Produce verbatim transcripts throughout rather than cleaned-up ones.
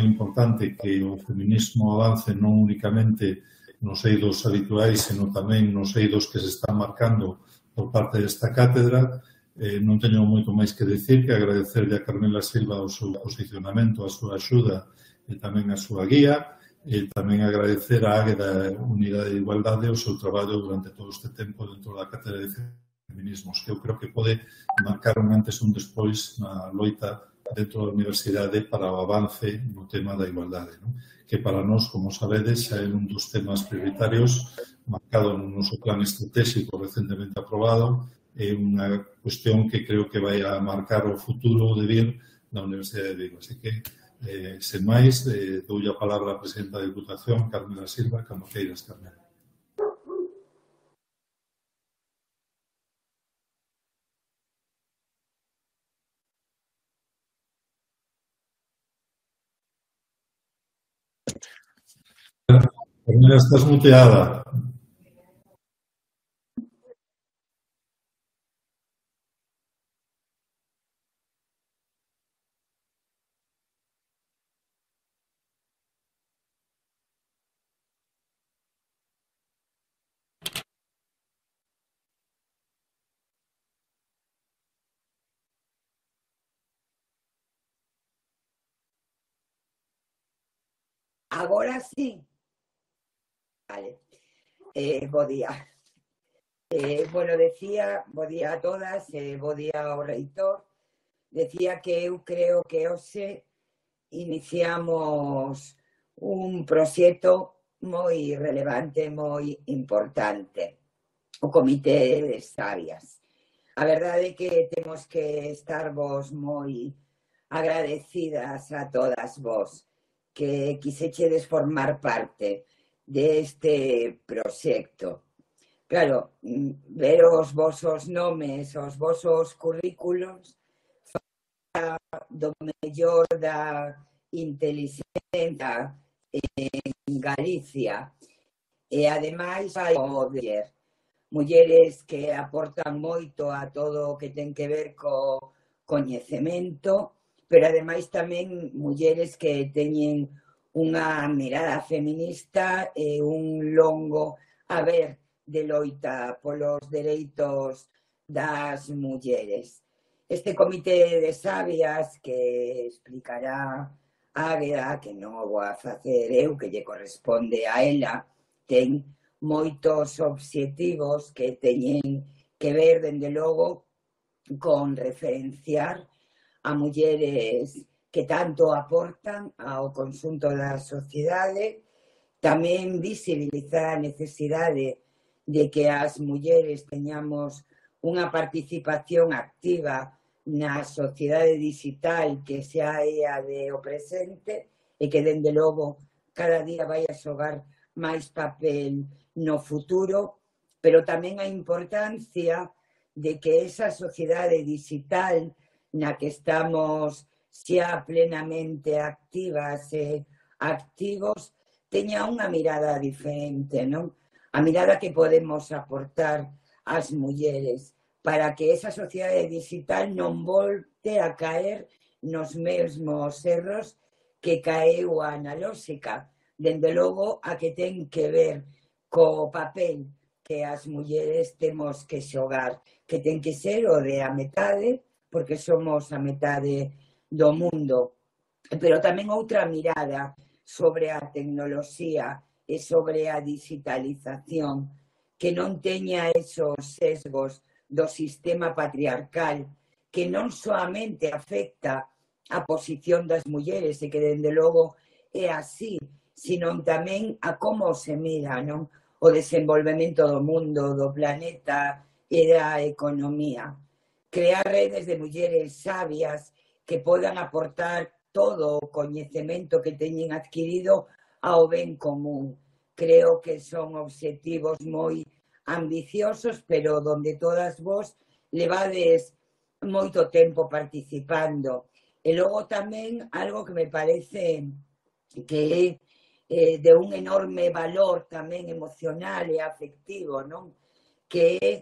moi importante que o feminismo avance non únicamente nos eidos habituais, senón tamén nos eidos que se están marcando por parte desta cátedra. Eh, non teño moito máis que dicir que agradecerle a Carmela Silva o seu posicionamento, a súa axuda e tamén a súa guía, e tamén agradecer a Águeda Unidade de Igualdade o seu traballo durante todo este tempo dentro da cátedra de feminismos, que eu creo que pode marcar un antes e un despois na loita dentro da universidade para o avance no tema da igualdade, non? Que para nós, como sabedes, é un dos temas prioritarios marcado no noso plan estratégico recentemente aprobado, é unha cuestión que creo que vai a marcar o futuro de vir na Universidade de Vigo. Así que, eh, sen máis, eh, dou a palabra á presidenta da Diputación, Carmela Silva, cando queiras, Carmela. Carmela, estás muteada. Agora sí. Vale. Eh, bo día. Eh, bueno, decía, bo día a todas, eh, bo día ao reitor. Decía que eu creo que hoxe iniciamos un proxecto moi relevante, moi importante, o Comité de Sabias. A verdade é que temos que estar vos moi agradecidas a todas vos que quisechedes formar parte deste proxecto. Claro, ver os vosos nomes, os vosos currículos, do mellor da inteligencia en Galicia e ademais hai poder mulleres que aportan moito a todo o que ten que ver co coñecemento, pero ademais tamén mulleres que teñen unha mirada feminista e un longo haber de loita polos dereitos das mulleres. Este comité de sabias que explicará Águeda, que non o vou a facer eu, que lle corresponde a ela, ten moitos obxectivos que teñen que ver, dende logo, con referenciar a mulleres que tanto aportan ao conxunto da sociedade, tamén visibilizar a necesidade de que as mulleres teñamos unha participación activa na sociedade digital que xa é a de o presente e que, dende logo, cada día vai a xogar máis papel no futuro, pero tamén a importancia de que esa sociedade digital na que estamos xa plenamente activas e activos teña unha mirada diferente, non? A mirada que podemos aportar ás mulleres para que esa sociedade digital non volte a caer nos mesmos erros que caeu a analóxica. Dende logo, a que ten que ver co papel que as mulleres temos que xogar, que ten que ser o de a metade, porque somos a metade do mundo. Pero tamén outra mirada sobre a tecnoloxía e sobre a digitalización, que non teña esos sesgos do sistema patriarcal que non soamente afecta a posición das mulleres e que, dende logo, é así, sino tamén a como se mira, non? O desenvolvemento do mundo, do planeta e da economía. Crear redes de mulleres sabias que podan aportar todo o coñecemento que teñen adquirido ao ben común. Creo que son obxectivos moi ambiciosos, pero donde todas vos levades moito tempo participando. E logo tamén algo que me parece que é eh, de un enorme valor tamén emocional e afectivo, non? Que é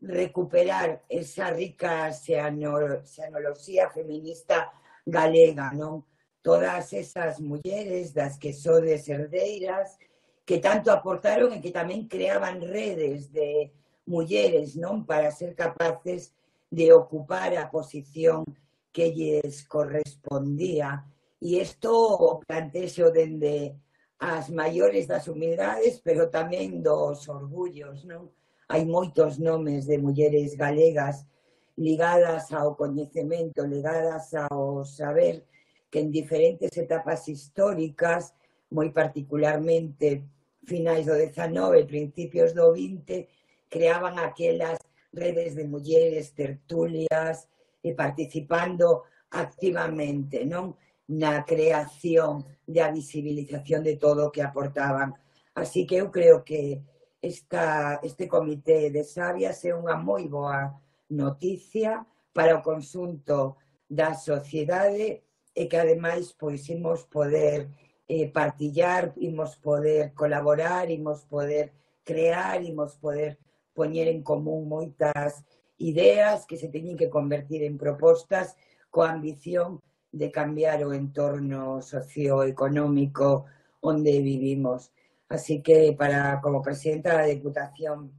recuperar esa rica xenoloxía feminista galega, non? todas esas mulleres das que sodes herdeiras, que tanto aportaron e que tamén creaban redes de mulleres, non, para ser capaces de ocupar a posición que lles correspondía. E isto plantexo dende as maiores das humildades, pero tamén dos orgullos, non? Hai moitos nomes de mulleres galegas ligadas ao coñecemento, ligadas ao saber, que en diferentes etapas históricas, moi particularmente finais do dezanove, principios do vinte, creaban aquelas redes de mulleres, tertulias, e participando activamente, non, na creación da visibilización de todo o que aportaban. Así que eu creo que esta, este comité de sabias é unha moi boa noticia para o conxunto da sociedade e que, ademais, pois, imos poder eh, partillar, imos poder colaborar, imos poder crear, imos poder poñer en común moitas ideas que se teñen que convertir en propostas coa ambición de cambiar o entorno socioeconómico onde vivimos. Así que, para, como presidenta da Deputación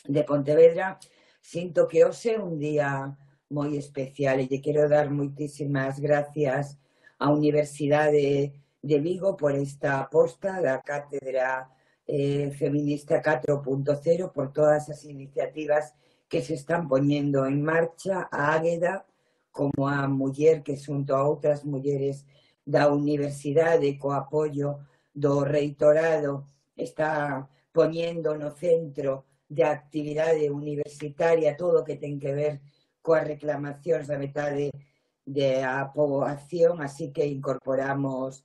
de Pontevedra, sinto que hoxe é un día moi especial e lle quero dar moitísimas gracias á Universidade de Vigo por esta aposta da Cátedra eh, Feminista catro punto cero, por todas as iniciativas que se están poñendo en marcha, a Águeda como a muller que xunto a outras mulleres da Universidade co apoio do Reitorado está poñendo no centro de actividade universitaria todo o que ten que ver coas reclamacións da metade da poboación, así que incorporamos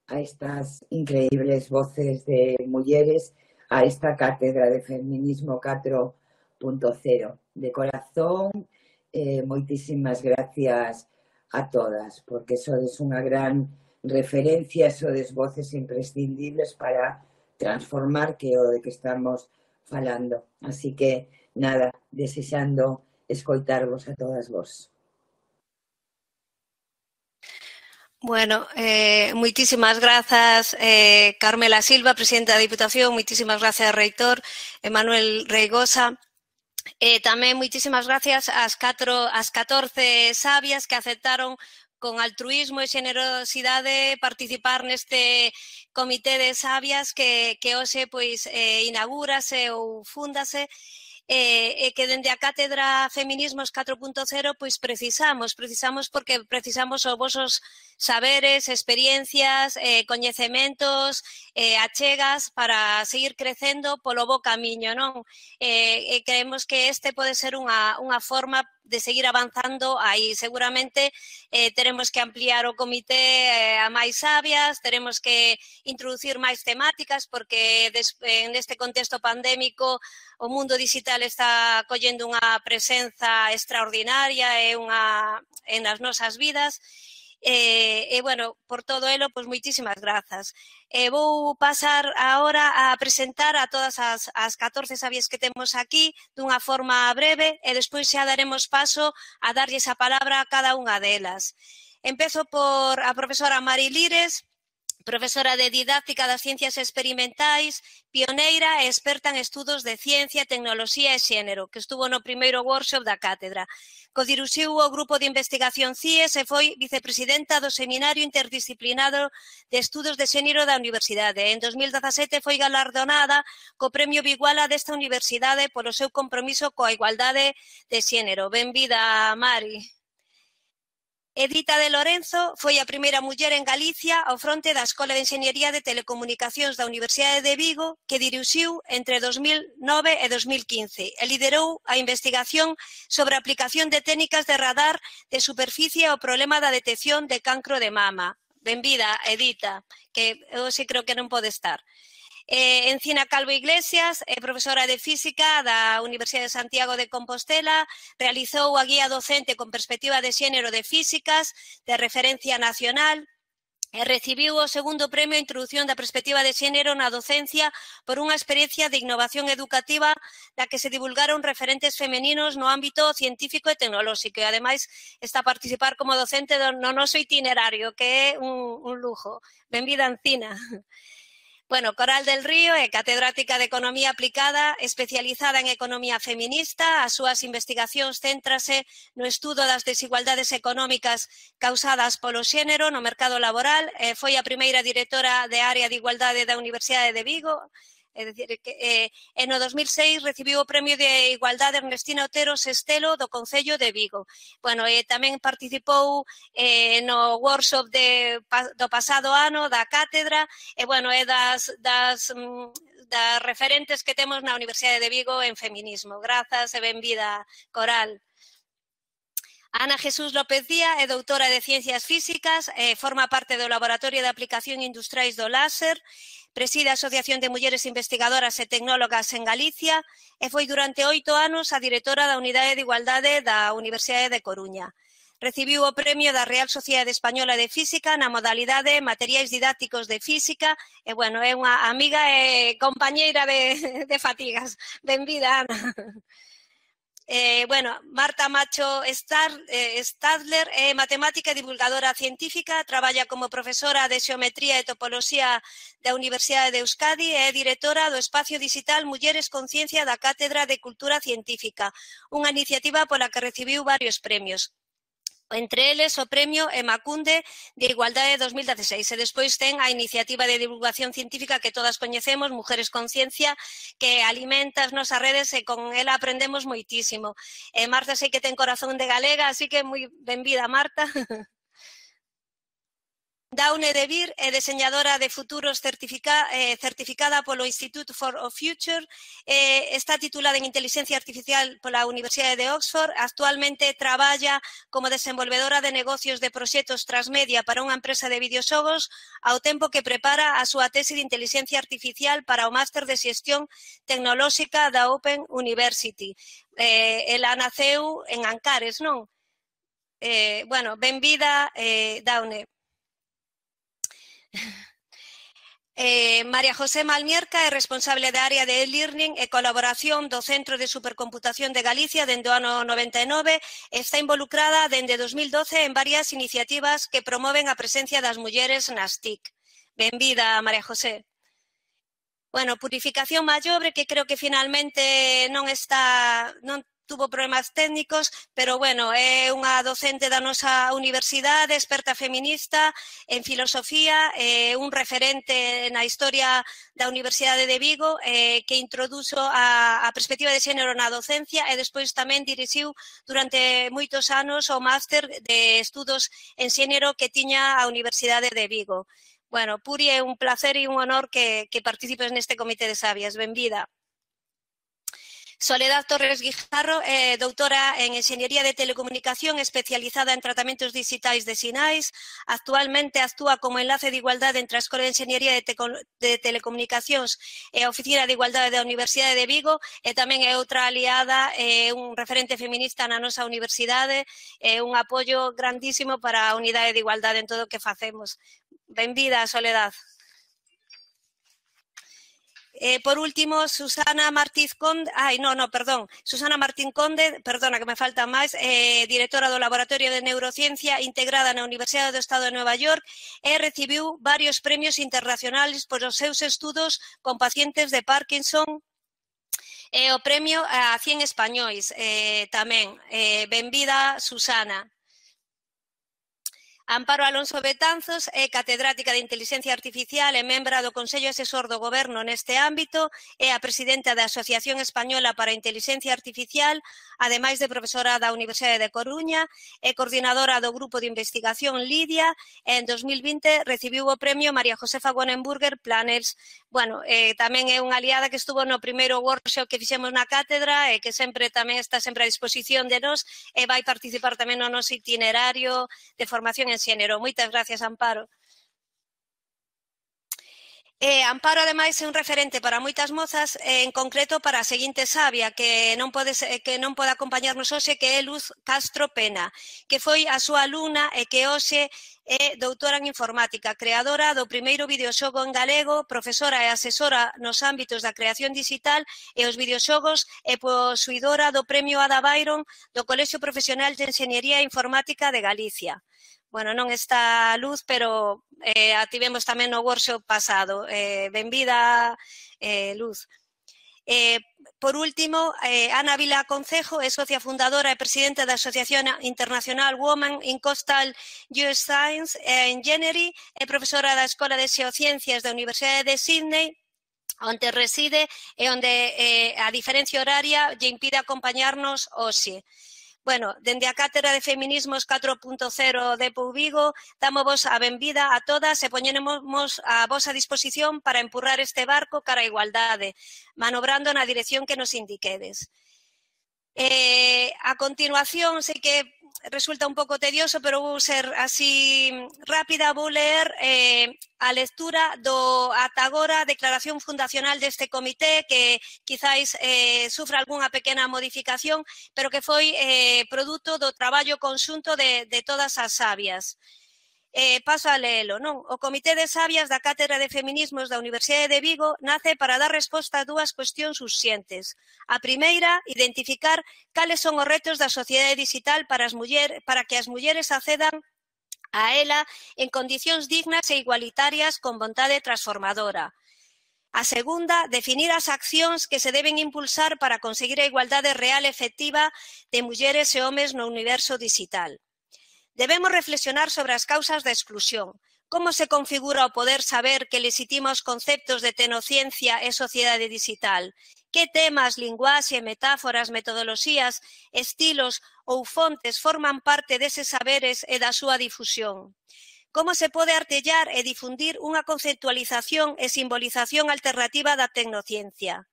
a estas increíbles voces de mulleres a esta cátedra de feminismo catro punto cero. De corazón, eh, moitísimas gracias a todas, porque sodes unha gran referencia, sodes voces imprescindibles para transformar que o de que estamos falando. Así que, nada, desexando escoitarvos a todas vos. Bueno, eh, moitísimas grazas, eh, Carmela Silva, presidenta da Diputación, moitísimas grazas, reitor, Emanuel Reigosa. Eh, tamén moitísimas gracias ás, catro, ás catorce sabias que aceptaron con altruismo e xenerosidade participar neste comité de sabias que, que hoxe pois, eh, inaugúrase ou fúndase e eh, que dende a Cátedra Feminismos catro punto cero pois precisamos, precisamos porque precisamos os vosos saberes, experiencias, eh, coñecementos, eh, achegas para seguir crecendo polo bo camiño, non? Eh, e creemos que este pode ser unha, unha forma de seguir avanzando aí. Seguramente eh, teremos que ampliar o comité eh, a máis sabias, teremos que introducir máis temáticas porque des, en este contexto pandémico o mundo digital está collendo unha presenza extraordinaria e unha en as nosas vidas. E, e, bueno, por todo elo, pois moitísimas grazas. E vou pasar agora a presentar a todas as, as catorce sabias que temos aquí dunha forma breve e despois xa daremos paso a darlles a palabra a cada unha delas. Empezo por a profesora Mari Lires, profesora de Didáctica das Ciencias Experimentais, pioneira e experta en estudos de ciencia, tecnoloxía e xénero, que estuvo no primeiro workshop da cátedra. Codiruxiu o grupo de investigación C I E S e foi vicepresidenta do Seminario Interdisciplinado de Estudos de Xénero da Universidade. En dos mil dezasete foi galardonada co Premio Biguala desta universidade polo seu compromiso coa igualdade de xénero. Benvida, Mari. Edita de Lorenzo foi a primeira muller en Galicia ao fronte da Escola de Enxeñería de Telecomunicacións da Universidade de Vigo, que dirixiu entre dos mil nove e dos mil quince e liderou a investigación sobre a aplicación de técnicas de radar de superficie ao problema da detección de cancro de mama. Benvida, Edita, que eu sí creo que non pode estar. Eh, Encina Calvo Iglesias, é profesora de Física da Universidade de Santiago de Compostela, realizou a guía docente con perspectiva de xénero de Físicas, de referencia nacional, E recibiu o segundo premio a Introdución da Perspectiva de Xénero na Docencia por unha experiencia de innovación educativa na que se divulgaron referentes femeninos no ámbito científico e tecnolóxico. E, ademais, está a participar como docente no noso itinerario, que é un, un lujo. Benvida, Encina. Bueno, Coral del Río é catedrática de Economía Aplicada, especializada en Economía Feminista. As súas investigacións céntrase no estudo das desigualdades económicas causadas polo xénero no mercado laboral. Eh, foi a primeira directora de área de igualdade da Universidade de Vigo. É dicir, que eh, en o dos mil seis recibiu o Premio de Igualdade Ernestina Otero Sestelo do Concello de Vigo. Bueno, e tamén participou eh, no workshop de, do pasado ano da cátedra e, bueno, é das, das, das referentes que temos na Universidade de Vigo en feminismo. Grazas e benvida, Coral. Ana Jesús López Díaz é doutora de Ciencias Físicas, eh, forma parte do Laboratorio de Aplicación Industriais do Láser, preside a Asociación de Mulleres Investigadoras e Tecnólogas en Galicia e foi durante oito anos a directora da Unidade de Igualdade da Universidade de Coruña. Recibiu o premio da Real Sociedade Española de Física na modalidade Materiais Didácticos de Física e, bueno, é unha amiga e compañeira de, de fatigas. Benvida, Ana. Eh, bueno, Marta Macho Stadler é matemática e divulgadora científica, traballa como profesora de Xeometría e Topoloxía da Universidade de Euskadi e é directora do Espacio Digital Mulleres con Ciencia da Cátedra de Cultura Científica, unha iniciativa pola que recibiu varios premios. Entre eles o premio Emakunde de Igualdade dos mil dieciséis e despois ten a iniciativa de divulgación científica que todas coñecemos, Mujeres con Ciencia, que alimenta as nosas redes e con ela aprendemos moitísimo. E Marta sei que ten corazón de galega, así que moi benvida, Marta. Daune de Vir é deseñadora de futuros certifica, eh, certificada polo Institute for the Future, eh, está titulada en Inteligencia Artificial pola Universidade de Oxford, actualmente traballa como desenvolvedora de negocios de proxectos transmedia para unha empresa de videoxogos, ao tempo que prepara a súa tese de Inteligencia Artificial para o Máster de Xestión Tecnolóxica da Open University. Eh, ela naceu en Ancares, non? Eh, bueno, benvida, eh, Daune. Eh, María José Malmierca é responsable da área de e-learning e colaboración do Centro de Supercomputación de Galicia dende o ano noventa e nove e está involucrada dende dos mil doce en varias iniciativas que promoven a presencia das mulleres nas T I C. Benvida, María José. Bueno, Purificación Mallobre, que creo que finalmente non está... non tuvo problemas técnicos, pero, bueno, é unha docente da nosa universidade, experta feminista en filosofía, eh, un referente na historia da Universidade de Vigo, eh, que introduzo a, a perspectiva de xénero na docencia e despois tamén dirixiu durante moitos anos o máster de estudos en xénero que tiña a Universidade de Vigo. Bueno, Puri, é un placer e un honor que, que participes neste comité de sabias. Benvida. Soledad Torres Guijarro é doutora en Enxeñería de Telecomunicación especializada en tratamentos digitais de sinais. Actualmente actúa como enlace de igualdade entre a Escola de Enxeñería de, de Telecomunicacións e a Oficina de Igualdade da Universidade de Vigo e tamén é outra aliada, é un referente feminista na nosa universidade, é un apoio grandísimo para a unidade de igualdade en todo o que facemos. Benvida, Soledad. Eh, por último, Susana Martín Conde, ai, no, no, perdón, Susana Martín Conde, perdona que me falta máis, eh, directora do Laboratorio de Neurociencia integrada na Universidade do Estado de Nova York e recibiu varios premios internacionales por os seus estudos con pacientes de Parkinson e o premio a cien españois eh, tamén. Eh, benvida, Susana. Amparo Alonso Betanzos é catedrática de Inteligencia Artificial e membra do Consello Asesor do Goberno neste ámbito, é a presidenta da Asociación Española para a Inteligencia Artificial, ademais de profesora da Universidade de Coruña, é coordinadora do Grupo de Investigación Lidia e en dos mil vinte recibiu o premio María Josefa Wonenburger Planners. Bueno, eh, tamén é unha aliada que estuvo no primeiro workshop que fixemos na cátedra e que sempre tamén está sempre a disposición de nós e vai participar tamén no noso itinerario de formación en xénero. Moitas gracias, Amparo. Eh, Amparo, ademais, é un referente para moitas mozas, eh, en concreto para a seguinte sabia, que non pode, que non pode acompañarnos hoxe, que é Luz Castro Pena, que foi a súa alumna e que hoxe é doutora en informática, creadora do primeiro videoxogo en galego, profesora e asesora nos ámbitos da creación digital e os videoxogos e posuidora do premio Ada Byron do Colexio Profesional de Enxeñería Informática de Galicia. Bueno, non está a Luz, pero eh, a tivemos tamén no workshop pasado. Eh, benvida, eh, Luz. Eh, por último, eh, Ana Vila Concejo é socia fundadora e presidenta da Asociación Internacional Women in Coastal U S Science and Engineering e profesora da Escola de Xeociencias da Universidade de Sydney, onde reside e onde eh, a diferencia horaria lle impide acompañarnos hoxe. Bueno, dende a Cátedra de Feminismos catro punto cero de P U Vigo, damos vos a benvida a todas e poñemos a vosa disposición para empurrar este barco cara a igualdade, manobrando na dirección que nos indiquedes. Eh, a continuación, sei que resulta un pouco tedioso, pero vou ser así rápida, vou ler eh, a lectura do ata agora declaración fundacional deste comité, que quizáis eh, sufra algunha pequena modificación, pero que foi eh, produto do traballo conxunto de, de todas as sabias. Eh, paso a leelo, non? O Comité de Sabias da Cátedra de Feminismos da Universidade de Vigo nace para dar resposta a dúas cuestións urxentes. A primeira, identificar cales son os retos da sociedade digital para, as muller, para que as mulleres accedan a ela en condicións dignas e igualitarias con vontade transformadora. A segunda, definir as accións que se deben impulsar para conseguir a igualdade real e efectiva de mulleres e homes no universo digital. Debemos reflexionar sobre as causas da exclusión. Como se configura o poder saber que legitima os conceptos de tecnociencia e sociedade digital? Que temas, linguaxe, metáforas, metodoloxías, estilos ou fontes forman parte deses saberes e da súa difusión? Como se pode artellar e difundir unha conceptualización e simbolización alternativa da tecnociencia?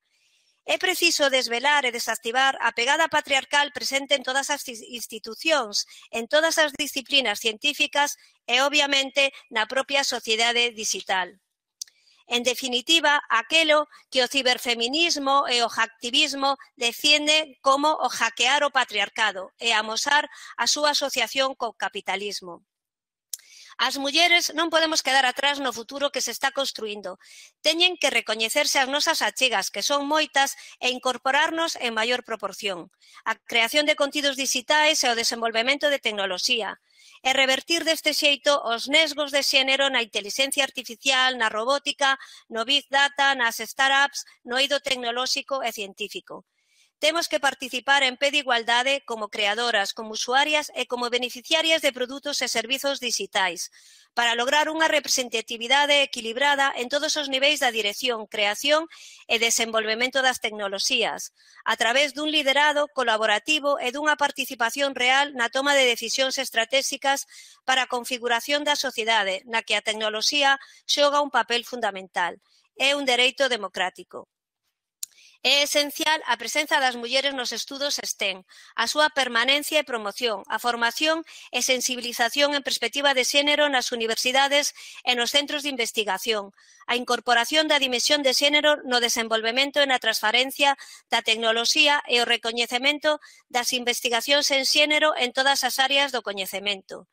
É preciso desvelar e desactivar a pegada patriarcal presente en todas as institucións, en todas as disciplinas científicas e, obviamente, na propia sociedade digital. En definitiva, aquelo que o ciberfeminismo e o hacktivismo defiende como o hackear o patriarcado e amosar a súa asociación co capitalismo. As mulleres non podemos quedar atrás no futuro que se está construindo. Teñen que recoñecerse as nosas achegas, que son moitas, e incorporarnos en maior proporción. A creación de contidos digitais e o desenvolvemento de tecnoloxía. E revertir deste xeito os nesgos de xénero na inteligencia artificial, na robótica, no big data, nas startups, no eido tecnolóxico e científico. Temos que participar en pé de igualdade como creadoras, como usuarias e como beneficiarias de produtos e servizos digitais, para lograr unha representatividade equilibrada en todos os niveis da dirección, creación e desenvolvemento das tecnoloxías, a través dun liderado colaborativo e dunha participación real na toma de decisións estratégicas para a configuración da sociedade, na que a tecnoloxía xoga un papel fundamental. É un dereito democrático. É esencial a presenza das mulleres nos estudos STEM, a súa permanencia e promoción, a formación e sensibilización en perspectiva de xénero nas universidades e nos centros de investigación, a incorporación da dimensión de xénero no desenvolvemento e na transferencia da tecnoloxía e o recoñecemento das investigacións en xénero en todas as áreas do coñecemento.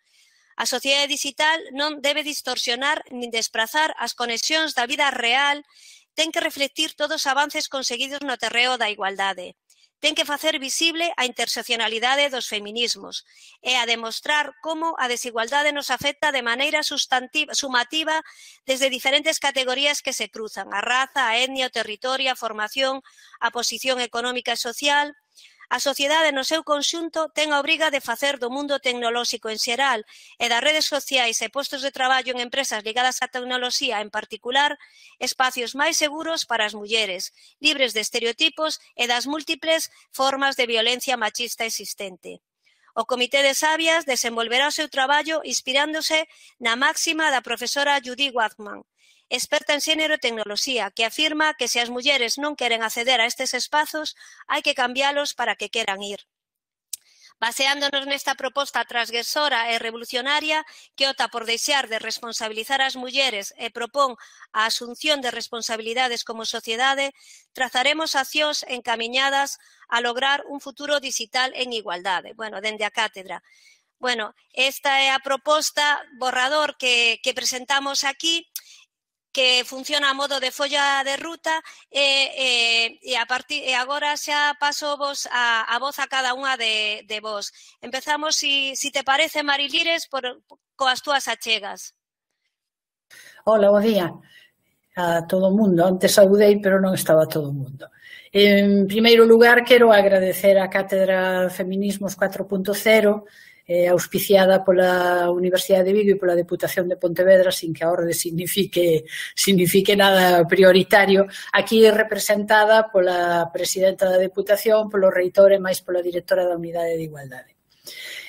A sociedade digital non debe distorsionar nin desprazar as conexións da vida real. Ten que reflectir todos os avances conseguidos no terreo da igualdade. Ten que facer visible a interseccionalidade dos feminismos e a demostrar como a desigualdade nos afecta de maneira sumativa desde diferentes categorías que se cruzan: a raza, a etnia, o territorio, a formación, a posición económica e social. A sociedade no seu conxunto ten a obriga de facer do mundo tecnolóxico en xeral e das redes sociais e postos de traballo en empresas ligadas á tecnoloxía en particular espacios máis seguros para as mulleres, libres de estereotipos e das múltiples formas de violencia machista existente. O Comité de Sabias desenvolverá o seu traballo inspirándose na máxima da profesora Judy Wagman, experta en xénero e tecnoloxía, que afirma que se as mulleres non queren acceder a estes espazos, hai que cambialos para que queran ir. Baseándonos nesta proposta transgresora e revolucionaria que opta por deixar de responsabilizar as mulleres e propón a asunción de responsabilidades como sociedade, trazaremos accións encamiñadas a lograr un futuro digital en igualdade. Bueno, dende a cátedra. Bueno, esta é a proposta borrador que, que presentamos aquí, que funciona a modo de folla de ruta e, e, e, a partir, e agora xa paso vos a, a voz a cada unha de, de vos. Empezamos, si, si te parece, Marilires, por, coas túas achegas. Hola, bo día a todo o mundo. Antes saudei, pero non estaba todo o mundo. En primeiro lugar, quero agradecer a Cátedra Feminismos cuatro punto cero, eh, auspiciada pola Universidade de Vigo e pola Deputación de Pontevedra, sin que a orde signifique, signifique nada prioritario, aquí representada pola presidenta da Deputación, polo reitor e máis pola directora da Unidade de Igualdade.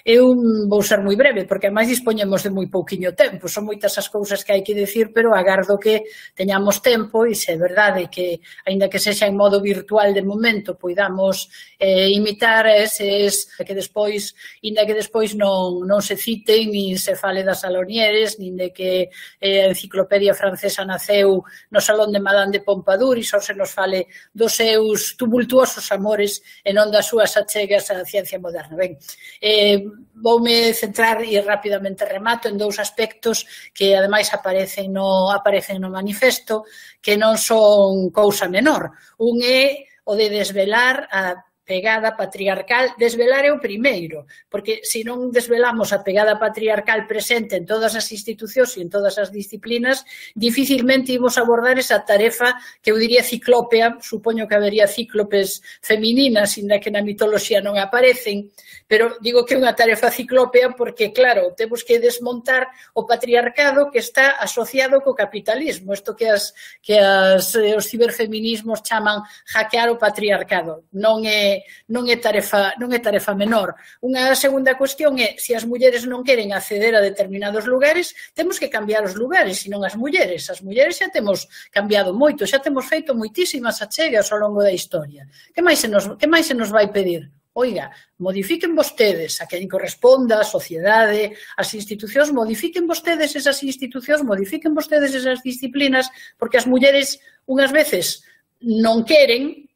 Eu vou ser moi breve, porque ademais dispoñemos de moi pouquiño tempo, son moitas as cousas que hai que dicir, pero agardo que teñamos tempo e se é verdade que, aínda que sexa en modo virtual de momento, poidamos eh, imitar eses que despois, aínda que despois non, non se citen, nin se fale das Salonieres, nin de que eh, a enciclopedia francesa naceu no Salón de Madame de Pompadour e só se nos fale dos seus tumultuosos amores e non das súas achegas á ciencia moderna. Ben, eh, voume centrar e rapidamente remato en dous aspectos que ademais aparecen no, aparecen no manifesto, que non son cousa menor. Un é o de desvelar a pegada patriarcal. Desvelar é o primeiro, porque se non desvelamos a pegada patriarcal presente en todas as institucións e en todas as disciplinas, dificilmente imos abordar esa tarefa que eu diría ciclópea. Supoño que habería cíclopes femininas, inda que na mitoloxía non aparecen, pero digo que é unha tarefa ciclópea porque, claro, temos que desmontar o patriarcado que está asociado co capitalismo, isto que, as, que as, os ciberfeminismos chaman hackear o patriarcado. Non é non é tarefa, non é tarefa menor. Unha segunda cuestión é, se as mulleres non queren acceder a determinados lugares, temos que cambiar os lugares, e non as mulleres. As mulleres xa temos cambiado moito, xa temos feito moitísimas achegas ao longo da historia. Que máis se nos, que máis se nos vai pedir? Oiga, modifiquen vostedes a quen corresponda, a sociedade, as institucións, modifiquen vostedes esas institucións, modifiquen vostedes esas disciplinas, porque as mulleres unhas veces non queren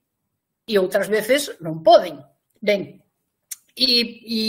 e outras veces non poden. Ben, e, e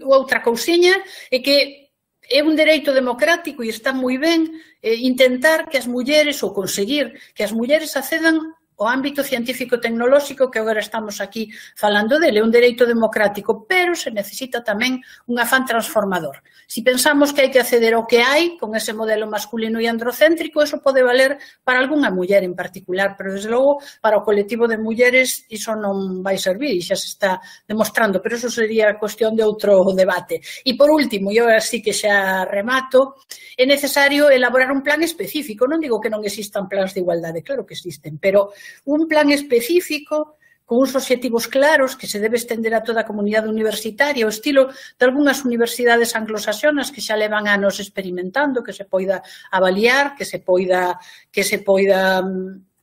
outra cousiña é que é un dereito democrático e está moi ben eh, intentar que as mulleres, ou conseguir que as mulleres accedan ao ámbito científico-tecnolóxico, que agora estamos aquí falando dele, é un dereito democrático, pero se necesita tamén un afán transformador. Si pensamos que hai que acceder ao que hai, con ese modelo masculino e androcéntrico, eso pode valer para algunha muller en particular, pero desde logo para o colectivo de mulleres iso non vai servir, e xa se está demostrando, pero eso sería cuestión de outro debate. E por último, e agora sí que xa remato, é necesario elaborar un plan específico. Non digo que non existan plans de igualdade, claro que existen, pero un plan específico con uns obxectivos claros que se debe estender a toda a comunidade universitaria, o estilo de algunhas universidades anglosaxonas que xa levan anos experimentando, que se poida avaliar, que se poida, que se poida,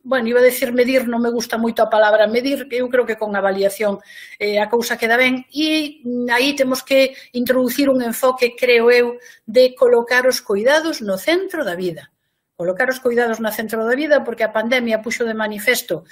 bueno, iba a decir medir, non me gusta moito a palabra medir, eu creo que con avaliación eh, a cousa queda ben, e aí temos que introducir un enfoque, creo eu, de colocar os cuidados no centro da vida. Colocar os cuidados no centro da vida, porque a pandemia puxo de manifesto,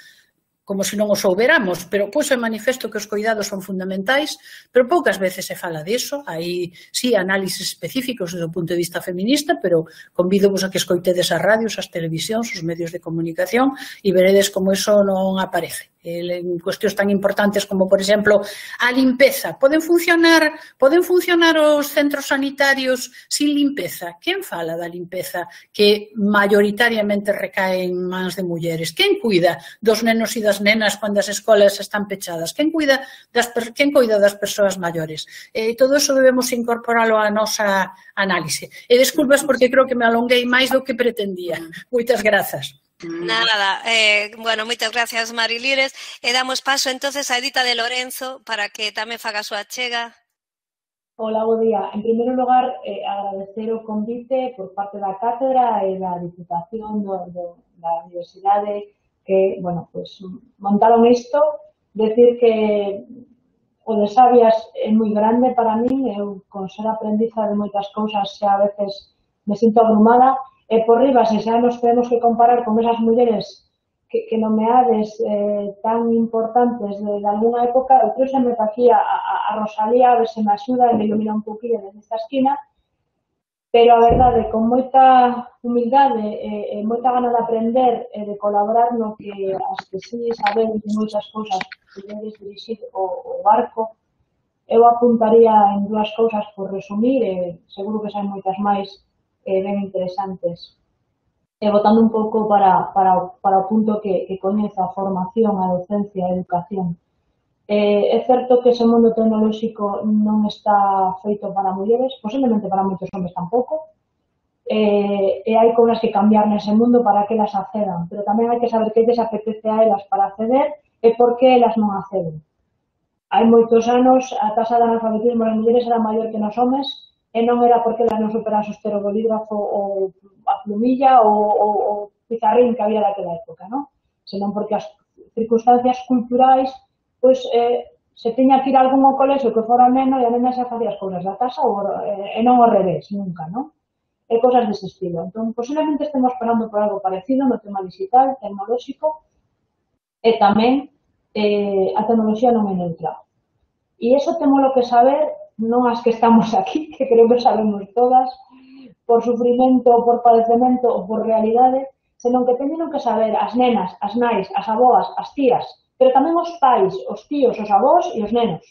como se non o souberamos, pero puxo de manifesto que os cuidados son fundamentais, pero poucas veces se fala diso. Hai, sí, análisis específicos desde o punto de vista feminista, pero convídovos a que escoitedes as radios, as televisións, os medios de comunicación e veredes como iso non aparece. En cuestións tan importantes como, por exemplo, a limpeza. Poden funcionar, poden funcionar os centros sanitarios sin limpeza? Quen fala da limpeza que maioritariamente recae en mans de mulleres? Quen cuida dos nenos e das nenas cando as escolas están pechadas? Quen cuida das, quen cuida das persoas maiores? E todo iso debemos incorporalo á nosa análise. E desculpas porque creo que me alonguei máis do que pretendía. Moitas grazas. Nada, eh, bueno, moitas gracias, Marilires, e damos paso entonces a Edita de Lorenzo para que tamén faga a súa achega. Hola, bo día. En primeiro lugar, eh, agradecer o convite por parte da Cátedra e da Diputación do, do, da Universidade que, bueno, pues montaron isto. Decir que o de Sabias é moi grande para min, eu con ser aprendiza de moitas cousas xa a veces me sinto abrumada, e por riba, se xa nos temos que comparar con esas mulleres que, que nomeades eh, tan importantes de, de alguna época, eu trouxeme aquí a, a, a Rosalía, a ver se me axuda e me ilumina un poquinho desde esta esquina, pero a verdade, con moita humildade e, e moita gana de aprender e de colaborar no que as que sí saben de moitas cousas podedes dirixir o, o barco, eu apuntaría en dúas cousas por resumir, e seguro que saen moitas máis eh, ben interesantes. E botando un pouco para, para, para o punto que, que coñezo a formación, a docencia, a educación. Eh, é certo que ese mundo tecnolóxico non está feito para mulleres, posiblemente para moitos hombres tampouco, eh, e hai cousas que cambiar nese mundo para que elas accedan, pero tamén hai que saber que lles apetece a elas para acceder e por que elas non acceden. Hai moitos anos a taxa de analfabetismo das mulleres era maior que nos homes, e non era porque elas non superaban o estero bolígrafo ou a plumilla ou o pizarrín que había daquela época, non? Senón porque as circunstancias culturais, pois, eh, se tiña que ir a algún ao colexio que fora neno e a nena xa facía as cousas da casa ou, eh, e non ao revés, nunca, non? E cousas dese estilo. Entón, posiblemente estemos esperando por algo parecido no tema digital, tecnolóxico, e tamén eh, a tecnoloxía non é neutral. E iso temos que saber, non as que estamos aquí, que creo que sabemos todas, por sufrimento, por padecemento ou por realidade, senón que teñen que saber as nenas, as nais, as aboas, as tías, pero tamén os pais, os tíos, os avós e os nenos.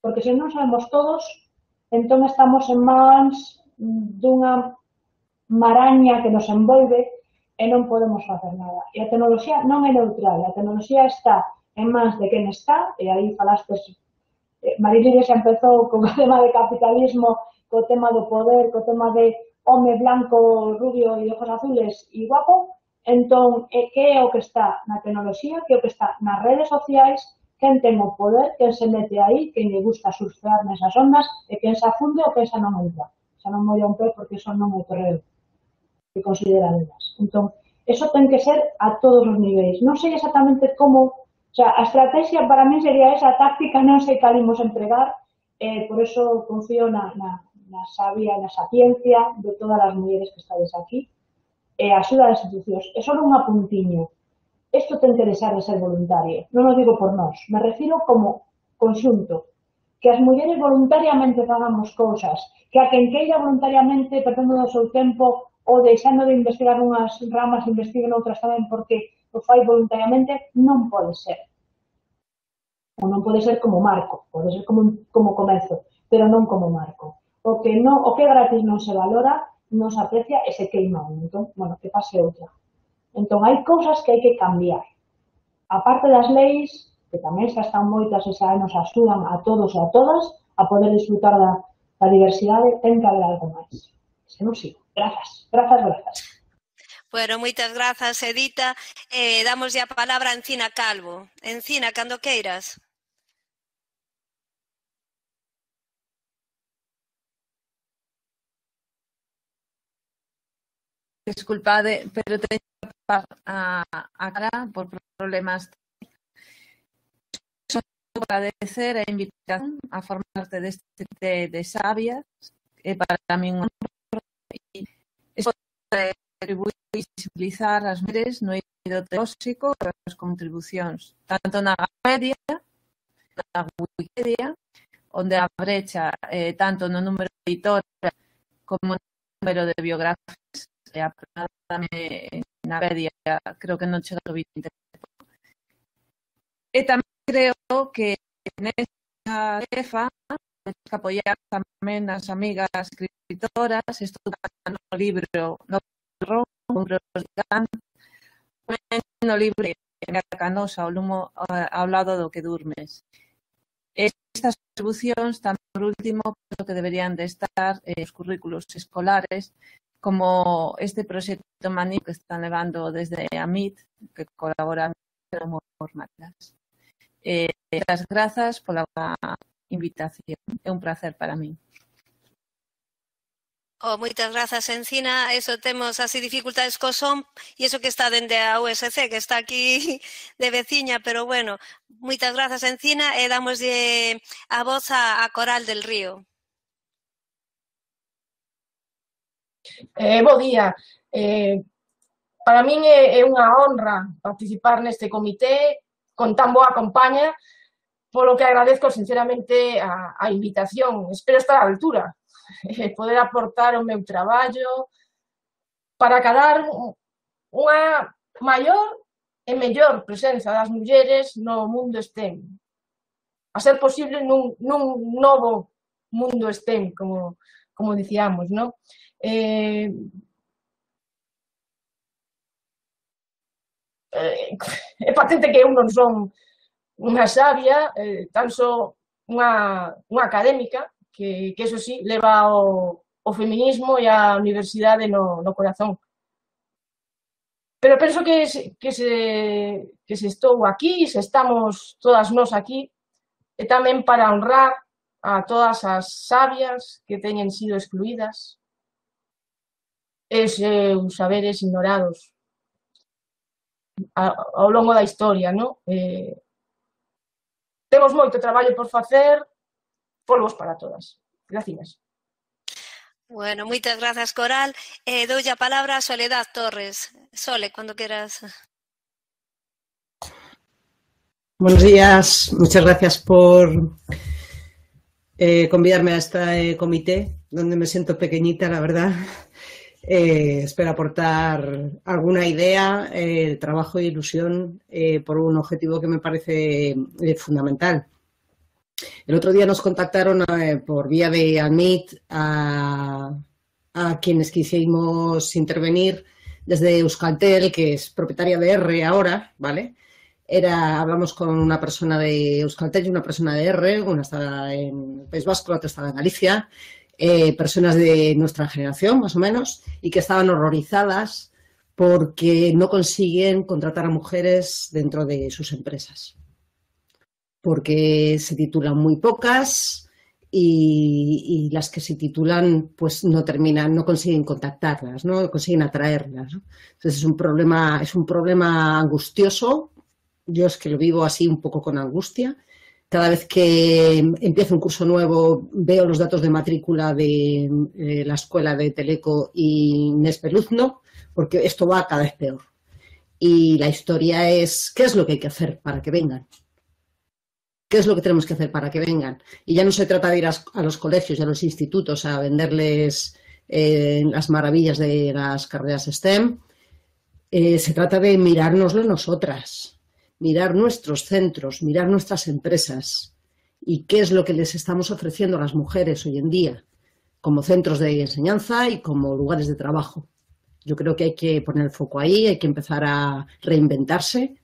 Porque se non sabemos todos, entón estamos en mans dunha maraña que nos envolve e non podemos facer nada. E a tecnoloxía non é neutral, a tecnoloxía está en mans de quen está, e aí falastes, Marilide xa empezou con o tema de capitalismo, co tema do poder, co tema de home blanco, rubio e ojos azules e guapo. Entón, que é o que está na tecnoloxía, que é o que está nas redes sociais, quen ten o poder, quen se mete aí, quen lle gusta surfear nesas ondas, e quen se afunde ou quen xa non entra. Xa non molla un pé porque son non é o terreo que consideran elas. Entón, eso ten que ser a todos os niveis. Non sei exactamente como. O sea, a estrategia para mí sería esa, a táctica non sei cal imos empregar, eh, por eso confío na, na, na sabia, na sapiencia de todas as mulleres que estades aquí, e a axuda das institucións. E só un apuntiño. Isto ten que deixar de ser voluntario. Non o digo por nós, me refiro como conxunto. Que as mulleres voluntariamente fagamos cousas, que a quen queira voluntariamente, perdendo do seu tempo, ou deixando de investigar unhas ramas, investiguen outras tamén, porque o fai voluntariamente, non pode ser. Ou non pode ser como marco, pode ser como, como comezo, pero non como marco. O que, non, o que gratis non se valora, non se aprecia e se queima un. Entón, bueno, que pase outra. Entón, hai cousas que hai que cambiar. A parte das leis, que tamén xa están moitas e xa nos axudan a todos e a todas a poder disfrutar da, da diversidade, ten que haber algo máis. Se non sigo. Grazas, grazas, grazas. Bueno, moitas grazas, Edita. Eh, damos a palabra a Encina Calvo. Encina, cando queiras. Desculpade, pero teño que tapar a, a cara por problemas. Só agradecer a invitación a formar parte deste de, de Sabias, é para mí un honor, e eso contribuir a visibilizar as mulleres no eido tecnolóxico e as contribucións, tanto na Wikipedia, na Wikipedia, onde a brecha eh, tanto no número de editoras como no número de biografías, e aproximadamente na Wikipedia creo que non chega ao vinte. E tamén creo que nesta tarefa temos que apoiar tamén as amigas escritoras, estudando no libro no no libro de Canosa, o lumo ao lado do que durmes. Estas contribucións, tamén por último, creo que deberían de estar eh, os currículos escolares, como este proxecto Maní que están levando desde a M I T, que colaboran como formatas. Eh, as grazas pola invitación. É un placer para mí. Oh, moitas grazas, Encina. Eso temos así dificultades co son e iso que está dende a U S C, que está aquí de veciña, pero bueno, moitas grazas, Encina, e damoslle a voz a, a Coral del Río. Eh, bo día. Eh, para min é, é unha honra participar neste comité con tan boa compaña, polo que agradezco sinceramente a, a invitación. Espero estar á altura, eh, poder aportar o meu traballo para cadar unha maior e mellor presenza das mulleres no mundo STEM. A ser posible nun, nun novo mundo STEM, como, como dicíamos, non? Eh, eh, é patente que eu non son unha sabia, eh, tan só unha, unha académica, que, que eso sí, leva o, o feminismo e a universidade no, no corazón. Pero penso que, que, se, que se estou aquí, se estamos todas nós aquí, e tamén para honrar a todas as sabias que teñen sido excluídas, e seus saberes ignorados ao longo da historia, non? Eh, temos moito traballo por facer, polvos para todas. Gracias. Bueno, moitas grazas, Coral. Eh, doulle a palabra a Soledad Torres. Sole, cando queras. Buenos días, muchas gracias por eh, convidarme a este comité, donde me siento pequeñita, la verdad. Eh, espero aportar alguna idea, eh, trabajo e ilusión eh, por un objetivo que me parece eh, fundamental. El otro día nos contactaron eh, por vía de Admit a, a quienes quisimos intervenir desde Euskaltel, que es propietaria de R ahora, ¿vale? Era, hablamos con una persona de Euskaltel y una persona de R, una estaba en el País Vasco, la otra estaba en Galicia, eh, personas de nuestra generación, más o menos, y que estaban horrorizadas porque no consiguen contratar a mujeres dentro de sus empresas. Porque se titulan muy pocas y, y las que se titulan pues no terminan, no consiguen contactarlas, no consiguen atraerlas, ¿no? Entonces es un problema, es un problema angustioso. Yo es que lo vivo así un poco con angustia. Cada vez que empiezo un curso nuevo veo los datos de matrícula de eh, la escuela de Teleco y Nespeluzno, porque esto va cada vez peor. Y la historia es, ¿qué es lo que hay que hacer para que vengan? ¿Qué es lo que tenemos que hacer para que vengan? Y ya no se trata de ir a, a los colegios y a los institutos a venderles eh, las maravillas de las carreras STEM. Eh, se trata de mirárnoslo nosotras. Mirar nuestros centros, mirar nuestras empresas y qué es lo que les estamos ofreciendo a las mujeres hoy en día como centros de enseñanza y como lugares de trabajo. Yo creo que hay que poner el foco ahí, hay que empezar a reinventarse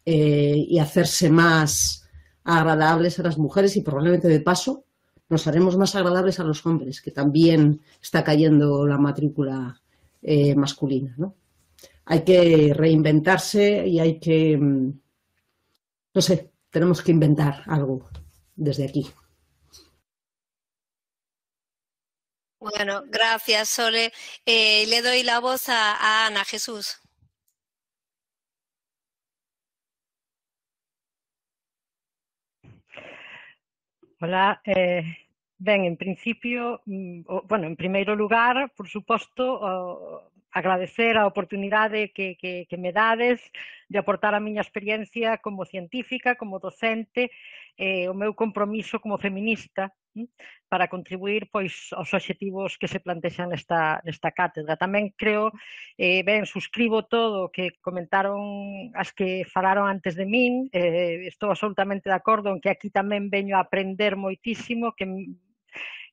eh, y hacerse más agradables a las mujeres y probablemente de paso nos haremos más agradables a los hombres, que también está cayendo la matrícula eh, masculina, ¿no? Hay que reinventarse y hay que... No sé, tenemos que inventar algo desde aquí. Bueno, gracias, Sole. Eh, le doy la voz a, a Ana Jesús. Hola, eh, ben, en principio, bueno, en primeiro lugar, por suposto, oh, agradecer a oportunidade que, que, que me dades de aportar a miña experiencia como científica, como docente, eh, o meu compromiso como feminista hm, para contribuir pois, aos obxectivos que se plantexan nesta, nesta cátedra. Tamén creo, eh, ben, suscribo todo o que comentaron as que falaron antes de min, eh, estou absolutamente de acordo en que aquí tamén veño a aprender moitísimo, que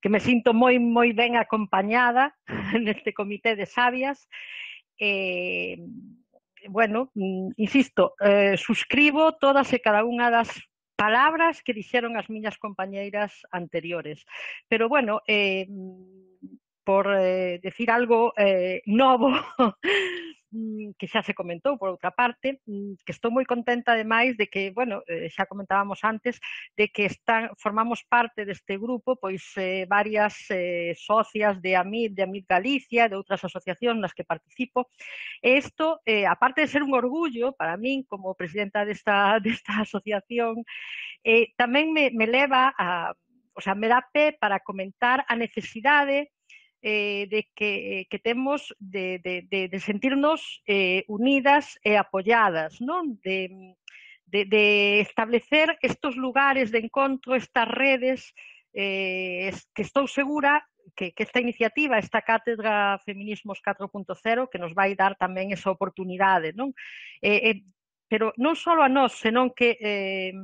que me sinto moi, moi ben acompañada neste comité de sabias. Eh, bueno, insisto, eh, suscribo todas e cada unha das palabras que dixeron as miñas compañeiras anteriores. Pero, bueno, eh, por eh, decir algo eh, novo, que xa se comentou por outra parte, que estou moi contenta ademais de que, bueno, xa comentábamos antes, de que están, formamos parte deste grupo, pois eh, varias eh, socias de AMIT, de AMIT Galicia, de outras asociacións nas que participo. E isto, eh, aparte de ser un orgullo para min como presidenta desta, desta asociación, eh, tamén me, me leva a, o sea, me dá pé para comentar a necesidade Eh, de que, que temos de, de, de, de sentirnos eh, unidas e apoyadas, non? De, de, de establecer estos lugares de encontro, estas redes, eh, que estou segura que, que esta iniciativa, esta Cátedra Feminismos catro punto cero, que nos vai dar tamén esa oportunidade, non? Eh, eh, pero non só a nós, senón que, eh,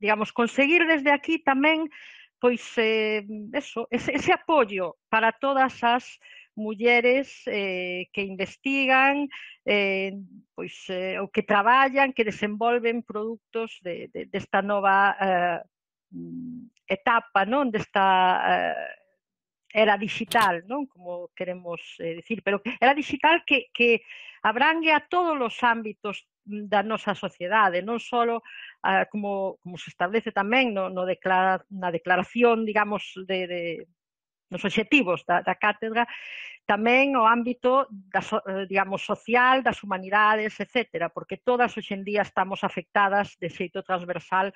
digamos, conseguir desde aquí tamén pois eh, eso, ese, ese apoio para todas as mulleres eh, que investigan, eh, pois, eh, ou que traballan, que desenvolven produtos de, de, desta nova eh, etapa, non? Desta eh, era digital, non? Como queremos eh, decir, pero era digital que, que abrangue a todos os ámbitos da nosa sociedade, non só uh, como, como se establece tamén no, no declara, na declaración, digamos, de, de, nos obxectivos da, da cátedra, tamén o ámbito, da, digamos, social, das humanidades, etcétera, porque todas hoxe en día estamos afectadas de xeito transversal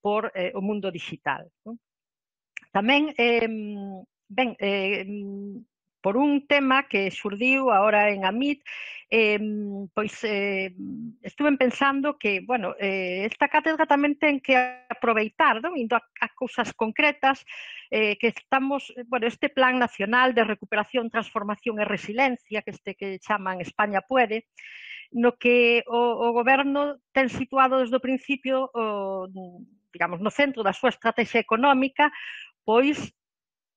por eh, o mundo digital. Non? Tamén, eh, ben, eh, por un tema que xurdiu agora en AMIT, eh, pois eh, estuve pensando que, bueno, eh, esta cátedra tamén ten que aproveitar, non? Indo a, a cousas concretas, eh, que estamos, bueno, este Plan Nacional de Recuperación, Transformación e Resiliencia, que este que chaman España Puede, no que o, o goberno ten situado desde o principio, o, digamos, no centro da súa estrategia económica, pois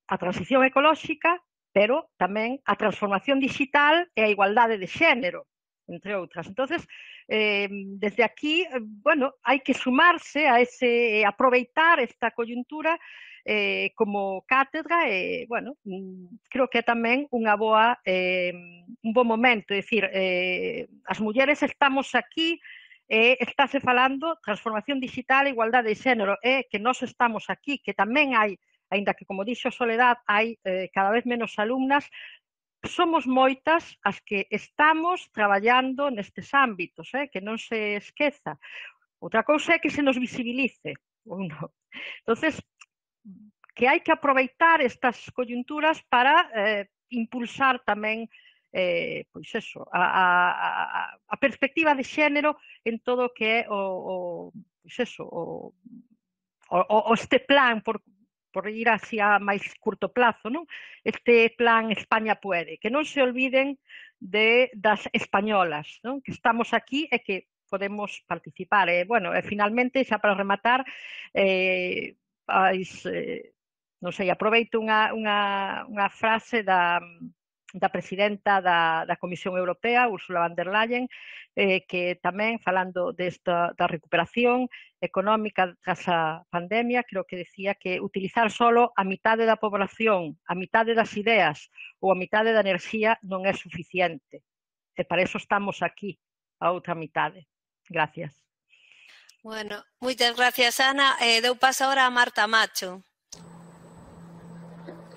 a transición ecolóxica, pero tamén a transformación digital e a igualdade de xénero, entre outras. Entonces, eh, desde aquí, bueno, hai que sumarse a ese, aproveitar esta coyuntura eh, como cátedra e, bueno, creo que é tamén unha boa, eh, un bo momento, é dicir, eh, as mulleres estamos aquí e estáse falando transformación digital e igualdade de xénero, e que nós estamos aquí, que tamén hai, aínda que, como dixo Soledad, hai eh, cada vez menos alumnas, somos moitas as que estamos traballando nestes ámbitos, eh, que non se esqueza. Outra cousa é que se nos visibilice. Uno. Entonces, que hai que aproveitar estas coyunturas para eh, impulsar tamén eh, pois eso, a, a, a perspectiva de xénero en todo o que é o, o, pois eso, o, o, o este plan por por ir hacia máis curto plazo, non? Este plan España Puede, que non se olviden de das españolas, non? Que estamos aquí e que podemos participar. E, bueno, e finalmente, xa para rematar, eh,ais, eh, non sei, aproveito unha, unha, unha frase da, da presidenta da, da Comisión Europea, Ursula von der Leyen, eh, que tamén, falando desta, da recuperación económica tras a pandemia, creo que decía que utilizar solo a mitade da población, a mitade das ideas ou a mitade da enerxía non é suficiente. E para eso estamos aquí, a outra mitade. Gracias. Bueno, moitas gracias, Ana. Eh, deu paso ahora a Marta Macho.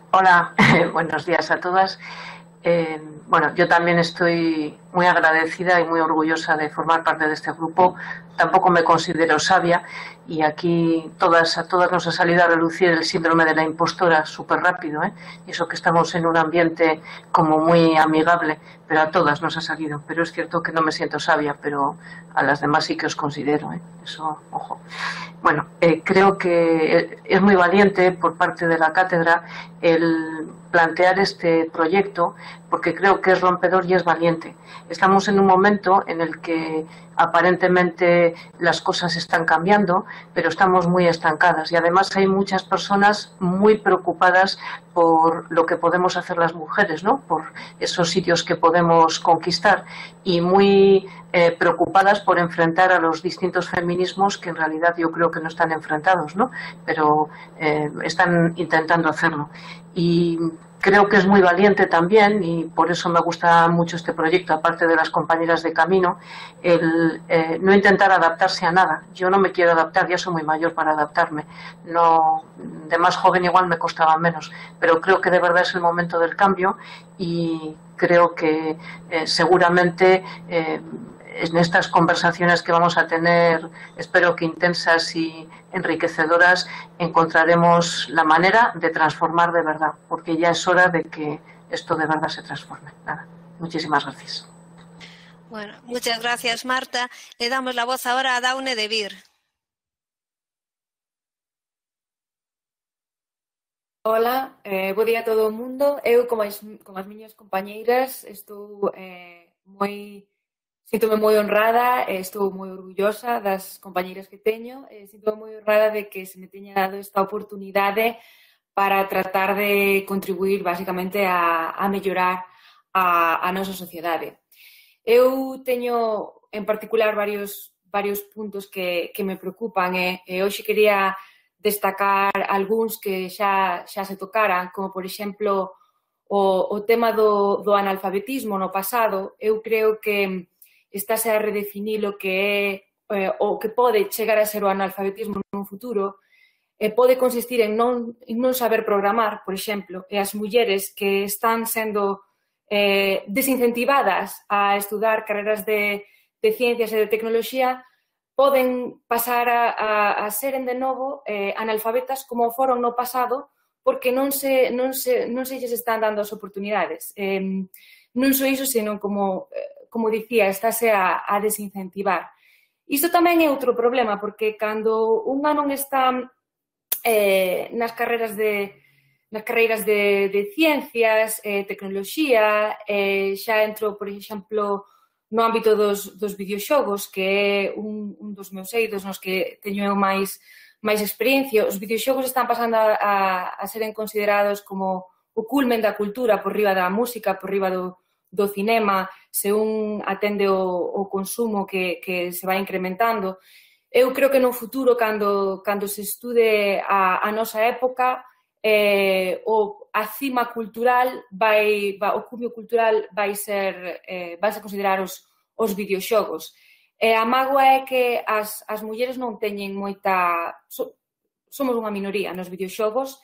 Hola, buenos días a todas. Eh, bueno, yo también estoy muy agradecida y muy orgullosa de formar parte de este grupo. Tampoco me considero sabia y aquí todas, a todas nos ha salido a relucir el síndrome de la impostora súper rápido, ¿eh? Y eso que estamos en un ambiente como muy amigable, pero a todas nos ha salido. Pero es cierto que no me siento sabia, pero a las demás sí que os considero, ¿eh? Eso, ojo. Bueno, eh, creo que es muy valiente por parte de la cátedra el plantear este proyecto, porque creo que es rompedor y es valiente. Estamos en un momento en el que aparentemente las cosas están cambiando, pero estamos muy estancadas y además hay muchas personas muy preocupadas por lo que podemos hacer las mujeres, ¿no? Por esos sitios que podemos conquistar y muy eh, preocupadas por enfrentar a los distintos feminismos que en realidad yo creo que no están enfrentados, ¿no? Pero eh, están intentando hacerlo. Y creo que es muy valiente también, y por eso me gusta mucho este proyecto, aparte de las compañeras de camino, el eh, no intentar adaptarse a nada. Yo no me quiero adaptar, ya soy muy mayor para adaptarme. No, de más joven igual me costaba menos, pero creo que de verdad es el momento del cambio y creo que eh, seguramente eh, en estas conversaciones que vamos a tener, espero que intensas y enriquecedoras, encontraremos la manera de transformar de verdad, porque ya es hora de que esto de verdad se transforme. Nada, muchísimas gracias. Bueno, muchas gracias, Marta. Le damos la voz ahora a Daune de Vir. Hola, eh, bo día a todo o mundo. Eu, como as, como as miñas compañeiras, estou eh, moi... Síntome moi honrada e estou moi orgullosa das compañeiras que teño. E síntome moi honrada de que se me teña dado esta oportunidade para tratar de contribuir basicamente a, a mellorar a, a nosa sociedade. Eu teño en particular varios, varios puntos que, que me preocupan e, e hoxe quería destacar algúns que xa, xa se tocaran, como por exemplo o, o tema do, do analfabetismo no pasado. Eu creo que estáse a redefinir o que é eh, o que pode chegar a ser o analfabetismo nun futuro, eh, pode consistir en non, en non saber programar, por exemplo, e as mulleres que están sendo eh, desincentivadas a estudar carreras de, de ciencias e de tecnoloxía poden pasar a, a, a seren de novo eh, analfabetas como foron no pasado porque non se, non se, non se lles están dando as oportunidades. Eh, non só iso, senón como... Eh, como dicía, estáse a, a desincentivar. Isto tamén é outro problema, porque cando unha non está eh, nas carreras de nas carreiras de, de ciencias, eh, tecnoloxía, eh, xa entro, por exemplo, no ámbito dos, dos videoxogos, que é un, un dos meus eidos nos que teño eu máis, máis experiencia. Os videoxogos están pasando a, a, a seren considerados como o culmen da cultura por riba da música, por riba do do cinema, se un atende o, o consumo que, que se vai incrementando. Eu creo que no futuro, cando, cando se estude a, a nosa época, eh, o, a cima cultural, vai, vai, o cumio cultural vai ser, eh, vai ser considerar os, os videoxogos. E a mágoa é que as, as mulleres non teñen moita... So, somos unha minoría nos videoxogos,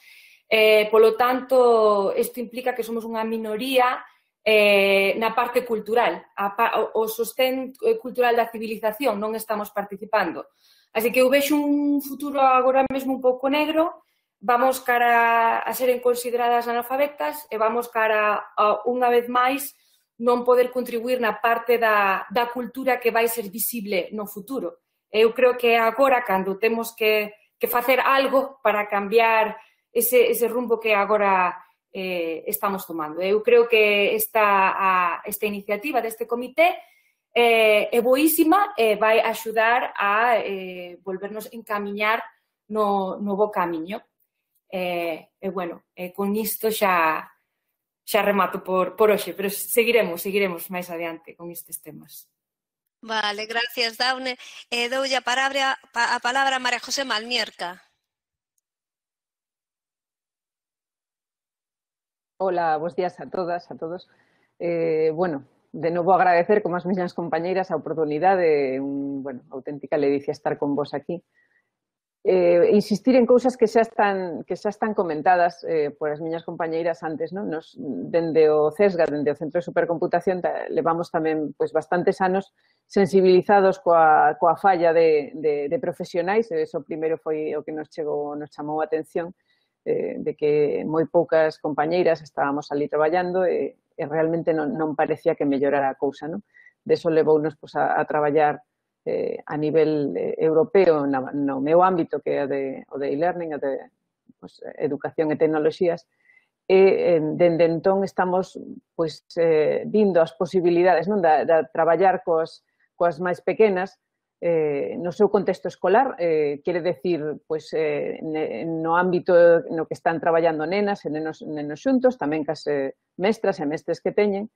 eh, polo tanto, isto implica que somos unha minoría Eh, na parte cultural, a, o, o sostén cultural da civilización non estamos participando. Así que eu vexo un futuro agora mesmo un pouco negro, vamos cara a seren consideradas analfabetas e vamos cara a, unha vez máis, non poder contribuir na parte da, da cultura que vai ser visible no futuro. Eu creo que agora, cando temos que, que facer algo para cambiar ese, ese rumbo que agora Eh, estamos tomando. Eu creo que esta, a, esta iniciativa deste comité eh, é boísima e vai axudar a eh, volvernos encamiñar no, no bo camiño. E, eh, eh, bueno, eh, con isto xa, xa remato por, por hoxe, pero seguiremos, seguiremos máis adiante con estes temas. Vale, gracias, Daune. Eh, doulle a palabra, a palabra a María José Malmierca. Hola, bos días a todas, a todos. Eh, bueno, de novo agradecer, como as miñas compañeiras, a oportunidade, un, bueno, auténtica ledicia estar con vos aquí. Eh, insistir en cousas que xa están, que xa están comentadas eh, por as miñas compañeiras antes, non? Nos, dende o CESGA, dende o Centro de Supercomputación, ta, levamos tamén pois, bastantes anos sensibilizados coa, coa falla de, de, de profesionais, e iso primeiro foi o que nos chegou, nos chamou a atención, de que moi poucas compañeiras estábamos ali traballando e, e realmente non, non parecía que mellorara a cousa, non? De iso levounos pues, a, a traballar eh, a nivel eh, europeo na, no meu ámbito, que é de, o de e-learning, o de pues, educación e tecnoloxías, e eh, dende entón estamos pues, eh, vindo as posibilidades non? Da, da traballar cos, coas máis pequenas, eh, no seu contexto escolar, eh, quere decir, pois, eh, no ámbito no que están traballando nenas e nenos, nenos xuntos, tamén cas eh, mestras e mestres que teñen,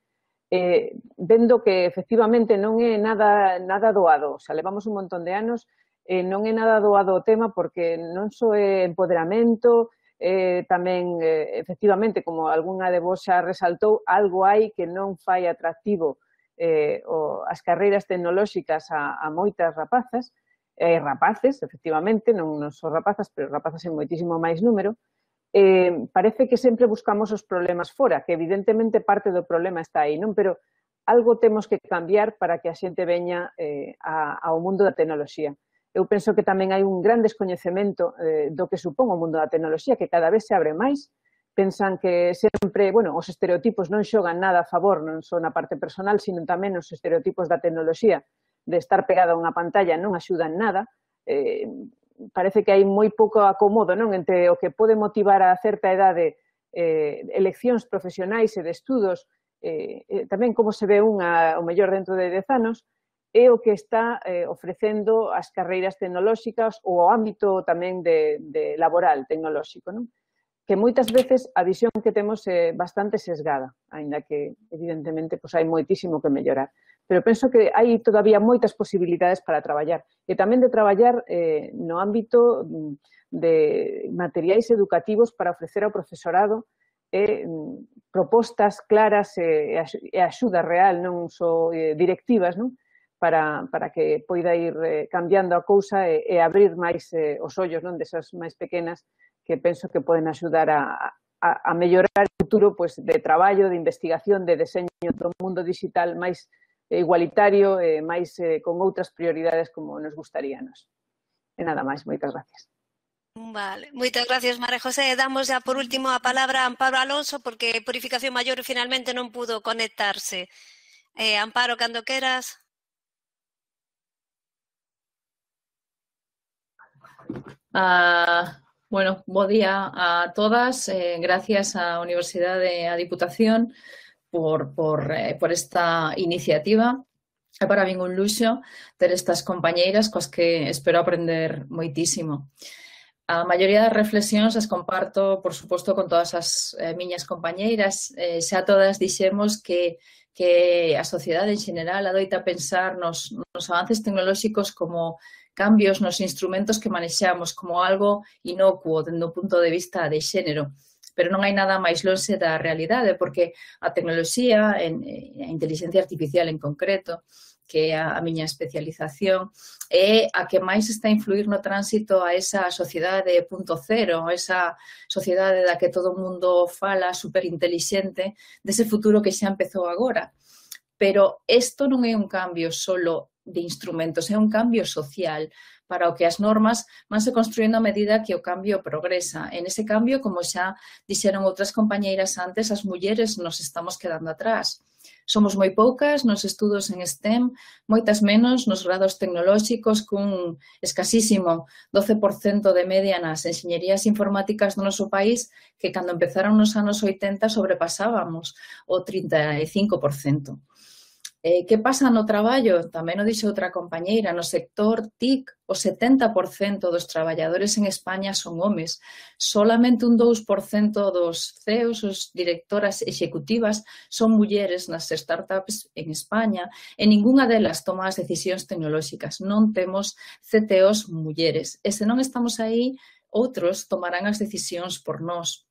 eh, vendo que efectivamente non é nada, nada doado, o sea, levamos un montón de anos, eh, non é nada doado o tema porque non só é empoderamento, eh, tamén, eh, efectivamente, como algunha de vos xa resaltou, algo hai que non fai atractivo Eh, o, as carreiras tecnolóxicas a, a moitas rapazas, eh, rapaces, efectivamente, non, non son rapazas, pero rapazas en moitísimo máis número, eh, parece que sempre buscamos os problemas fora, que evidentemente parte do problema está aí, non? Pero algo temos que cambiar para que a xente veña eh, a, ao mundo da tecnoloxía. Eu penso que tamén hai un gran descoñecemento eh, do que supón o mundo da tecnoloxía, que cada vez se abre máis, pensan que sempre, bueno, os estereotipos non xogan nada a favor, non só na parte personal, sino tamén os estereotipos da tecnoloxía, de estar pegada a unha pantalla non axudan nada. Eh, parece que hai moi pouco acomodo, non, entre o que pode motivar a certa idade eh, eleccións profesionais e de estudos, eh, eh, tamén como se ve unha, o mellor dentro de dez anos, e o que está eh, ofrecendo as carreiras tecnolóxicas ou o ámbito tamén de, de laboral tecnolóxico, non? Que moitas veces a visión que temos é bastante sesgada, aínda que, evidentemente, pois hai moitísimo que mellorar. Pero penso que hai todavía moitas posibilidades para traballar. E tamén de traballar eh, no ámbito de materiais educativos para ofrecer ao profesorado eh, propostas claras e, e axuda real, non só eh, directivas, non? Para, para que poida ir eh, cambiando a cousa e, e abrir máis eh, os ollos, non, desas máis pequenas que penso que poden axudar a, a, a mellorar o futuro pues, de traballo, de investigación, de deseño do mundo digital máis igualitario e máis eh, con outras prioridades como nos gustaríanos. E nada máis, moitas gracias. Vale, moitas gracias, María José. Damos ya por último a palabra a Amparo Alonso porque Purificación Maior finalmente non pudo conectarse. Eh, Amparo, cando queras. Ah... Uh... Bueno, bo día a todas. Eh, gracias á Universidade e á Diputación por, por, eh, por esta iniciativa. É para min un luxo ter estas compañeiras coas que espero aprender moitísimo. A maioría das reflexións as comparto, por suposto, con todas as eh, miñas compañeiras. Eh, xa todas dixemos que, que a sociedade en xeral adoita pensar nos, nos avances tecnolóxicos como cambios nos instrumentos que manexamos como algo inocuo dende o punto de vista de xénero. Pero non hai nada máis lonxe da realidade, porque a tecnoloxía, a inteligencia artificial en concreto, que é a miña especialización, é a que máis está a influir no tránsito a esa sociedade punto cero, a esa sociedade da que todo o mundo fala superintelixente, dese futuro que xa empezou agora. Pero isto non é un cambio solo de instrumentos, é un cambio social para o que as normas vanse construindo a medida que o cambio progresa. En ese cambio, como xa dixeron outras compañeiras antes, as mulleres nos estamos quedando atrás. Somos moi poucas nos estudos en STEM, moitas menos nos grados tecnolóxicos, cun escasísimo doce por cento de media nas enxeñerías informáticas do noso país, que cando empezaron nos anos oitenta sobrepasábamos o trinta e cinco por cento. Eh, que pasa no traballo? Tamén o dixo outra compañeira, no sector T I C, o setenta por cento dos traballadores en España son homes. Solamente un dous por cento dos C E Os, os directoras executivas, son mulleres nas startups en España e ningunha delas toma as decisións tecnolóxicas. Non temos C T Os mulleres. E se non estamos aí, outros tomarán as decisións por nós.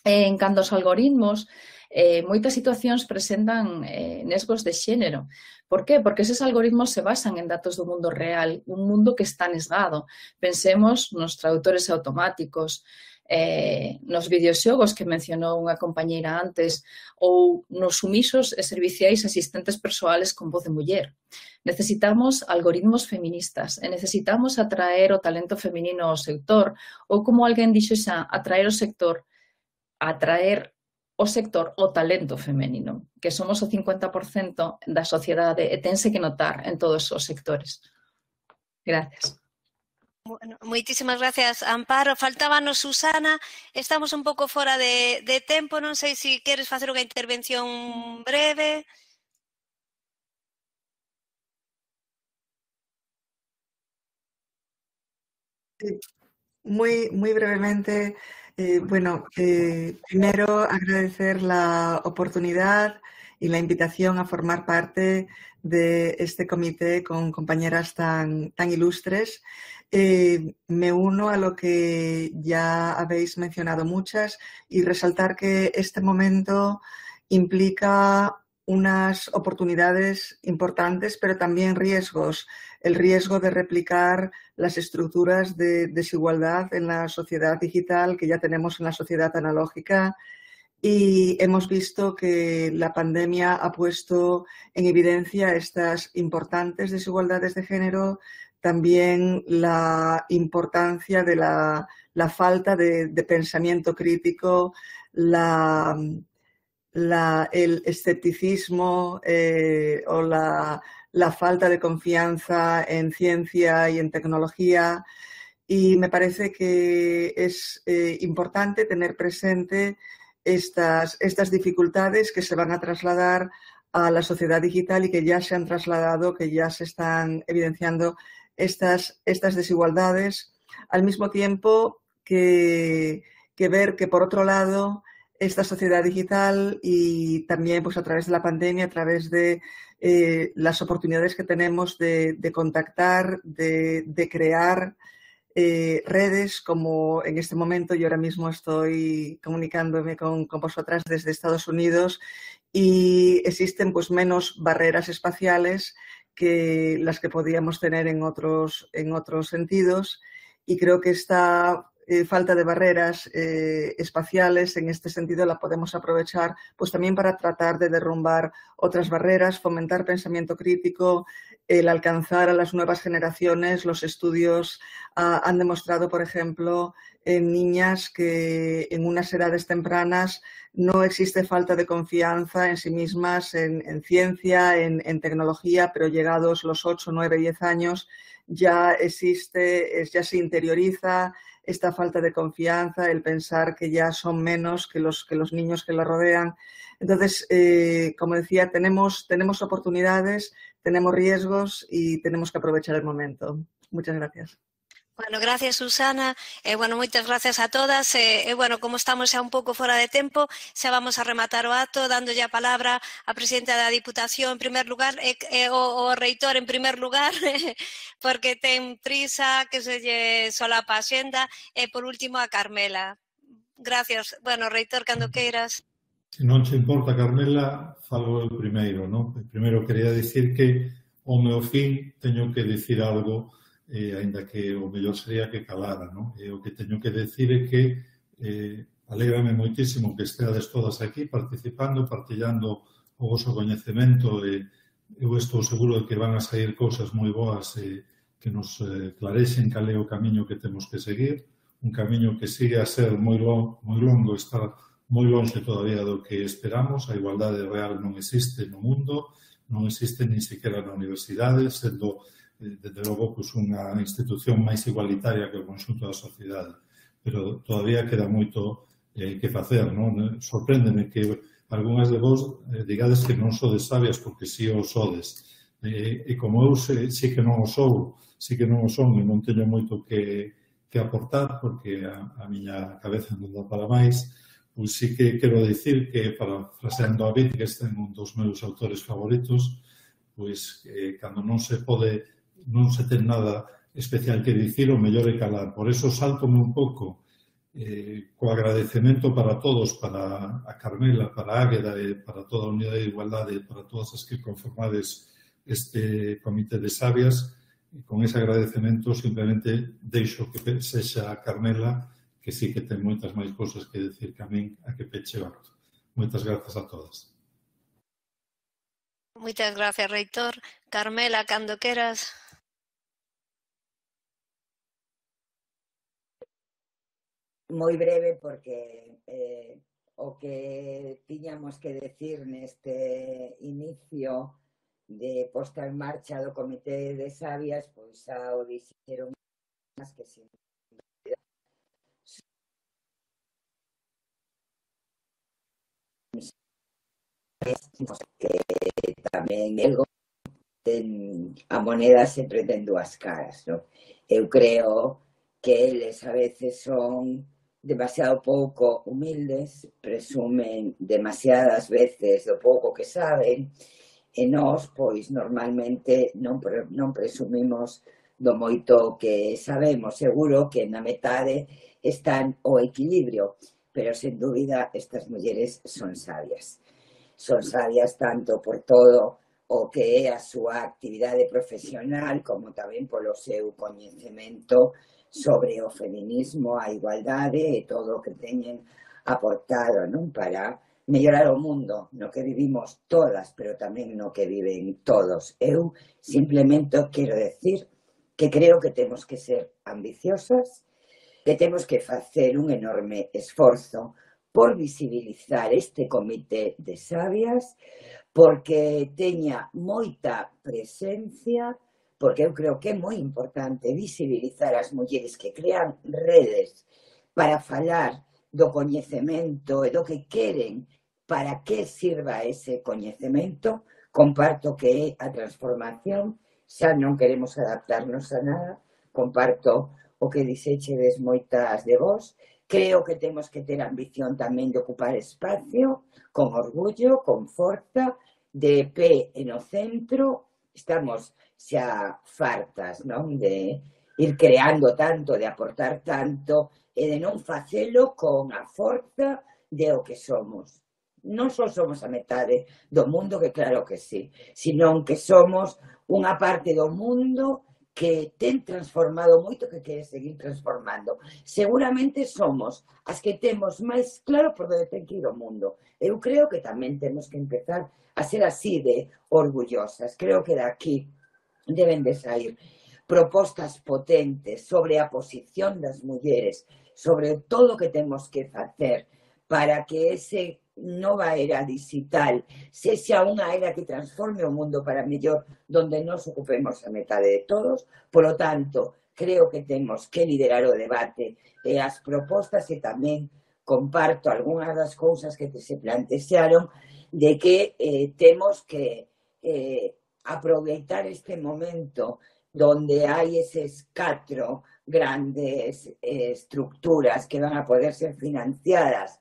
En canto aos algoritmos, Eh, moitas situacións presentan eh, nesgos de xénero. Por qué? Porque eses algoritmos se basan en datos do mundo real, un mundo que está nesgado. Pensemos nos traductores automáticos, eh, nos videoxogos que mencionou unha compañeira antes, ou nos sumisos e serviciais asistentes persoales con voz de muller. Necesitamos algoritmos feministas e necesitamos atraer o talento feminino ao sector, ou como alguén dixo xa, atraer o sector, atraer o sector o talento femenino, que somos o cincuenta por cento da sociedade e tense que notar en todos os sectores. Gracias. Bueno, moitísimas gracias, Amparo. Faltábanos Susana, estamos un pouco fora de, de tempo, non sei se queres facer unha intervención breve. Sí, muy, muy brevemente, eh, bueno, eh, primero agradecer la oportunidad y la invitación a formar parte de este comité con compañeras tan, tan ilustres. Eh, me uno a lo que ya habéis mencionado muchas y resaltar que este momento implica unas oportunidades importantes, pero también riesgos. El riesgo de replicar las estructuras de desigualdad en la sociedad digital que ya tenemos en la sociedad analógica. Y hemos visto que la pandemia ha puesto en evidencia estas importantes desigualdades de género, también la importancia de la, la falta de, de pensamiento crítico, la, la, el escepticismo eh, o la, la falta de confianza en ciencia y en tecnología. Y me parece que es eh, importante tener presente estas, estas dificultades que se van a trasladar a la sociedad digital y que ya se han trasladado, que ya se están evidenciando estas, estas desigualdades, al mismo tiempo que, que ver que, por otro lado, esta sociedad digital y también pues, a través de la pandemia, a través de eh, las oportunidades que tenemos de, de contactar, de, de crear Eh, redes, como en este momento yo ahora mismo estoy comunicándome con, con vosotras desde Estados Unidos, y existen pues menos barreras espaciales que las que podíamos tener en otros, en otros sentidos, y creo que esta eh, falta de barreras eh, espaciales en este sentido la podemos aprovechar pues también para tratar de derrumbar otras barreras, fomentar pensamiento crítico, el alcanzar a las nuevas generaciones. Los estudios uh, han demostrado, por ejemplo, en niñas que en unas edades tempranas no existe falta de confianza en sí mismas, en, en ciencia, en, en tecnología, pero llegados los ocho, nueve, diez años ya existe, ya se interioriza esta falta de confianza, el pensar que ya son menos que los, que los niños que la rodean. Entonces, eh, como decía, tenemos, tenemos oportunidades, tenemos riesgos y tenemos que aprovechar el momento. Muchas gracias. Bueno, gracias, Susana. Eh, bueno, moitas gracias a todas. Eh, eh, bueno, como estamos xa un pouco fora de tempo, xa vamos a rematar o acto, dándolle a palabra á presidenta da Diputación en primer lugar, e eh, eh, o, o reitor en primer lugar, porque ten prisa, que se lle solapa a xenda, e por último a Carmela. Gracias. Bueno, reitor, cando queiras. Se non che importa, Carmela, falo eu primeiro, non? Primeiro quería dicir que ao meu fin teño que dicir algo, eh, ainda que o mellor sería que calara, non? E o que teño que dicir é que eh, alégrame moitísimo que esteades todas aquí participando, partillando o vosso coñecemento, e eu estou seguro de que van a sair cousas moi boas e que nos eh, clarexen cal é o camiño que temos que seguir, un camiño que sigue a ser moi longo, moi longo, está moi longe todavía do que esperamos. A igualdade real non existe no mundo, non existe nin sequera na universidade, sendo, desde logo, pues, unha institución máis igualitaria que o conxunto da sociedade. Pero todavía queda moito eh, que facer, non? Sorpréndeme que algunhas de vos eh, digades que non sodes sabias, porque si o sodes. E, e como eu sei, si que non o sou, si que non o son e non teño moito que, que aportar, porque a, a miña cabeza non dá para máis, pois sí que quero dicir que, parafraseando a Wittgenstein, un dos meus autores favoritos, pois eh, cando non se pode, non se ten nada especial que dicir, o mellor é calar. Por eso saltome un pouco eh, co agradecemento para todos, para a Carmela, para a Águeda e para toda a Unidade de Igualdade, para todas as que conformades este comité de sabias. E con ese agradecemento simplemente deixo que sexa a Carmela, que sí que ten moitas máis cousas que decir que a min, a que peche o acto. Moitas grazas a todas. Moitas gracias, reitor. Carmela, cando queras. Moi breve, porque eh, o que tiñamos que decir neste inicio de posta en marcha do Comité de Sabias, pois xa o dixeron máis que sin que tamén el ten a moneda sempre ten dúas caras, non? Eu creo que eles a veces son demasiado pouco humildes, presumen demasiadas veces do pouco que saben, e nós, pois, normalmente non, non presumimos do moito que sabemos. Seguro que na metade están o equilibrio, pero, sen dúbida, estas mulleres son sabias. Son sabias tanto por todo o que é a súa actividade profesional, como tamén polo seu coñecemento sobre o feminismo, a igualdade e todo o que teñen aportado, non, para mellorar o mundo no que vivimos todas, pero tamén no que viven todos. Eu simplemente quero decir que creo que temos que ser ambiciosas, que temos que facer un enorme esforzo por visibilizar este comité de sabias, porque teña moita presencia, porque eu creo que é moi importante visibilizar as mulleres que crean redes para falar do coñecemento e do que queren, para que sirva ese coñecemento. Comparto que é a transformación, xa non queremos adaptarnos a nada, comparto o que dixechedes moitas de vos. Creo que temos que ter ambición tamén de ocupar espacio, con orgullo, con forza, de pé no centro. Estamos xa fartas, non, de ir creando tanto, de aportar tanto, e de non facelo con a forza de o que somos. Non só somos a metade do mundo, que claro que sí, sino que somos unha parte do mundo que ten transformado moito, que quere seguir transformando. Seguramente somos as que temos máis claro por onde ten que ir o mundo. Eu creo que tamén temos que empezar a ser así de orgullosas. Creo que daqui deben de sair propostas potentes sobre a posición das mulleres, sobre todo o que temos que facer para que ese nova era digital sexa unha era que transforme o mundo para mellor, donde nos ocupemos a metade de todos. Por lo tanto, creo que temos que liderar o debate e as propostas, e tamén comparto algunhas das cousas que se plantexaron de que eh, temos que eh, aproveitar este momento donde hai eses catro grandes eh, estructuras que van a poder ser financiadas,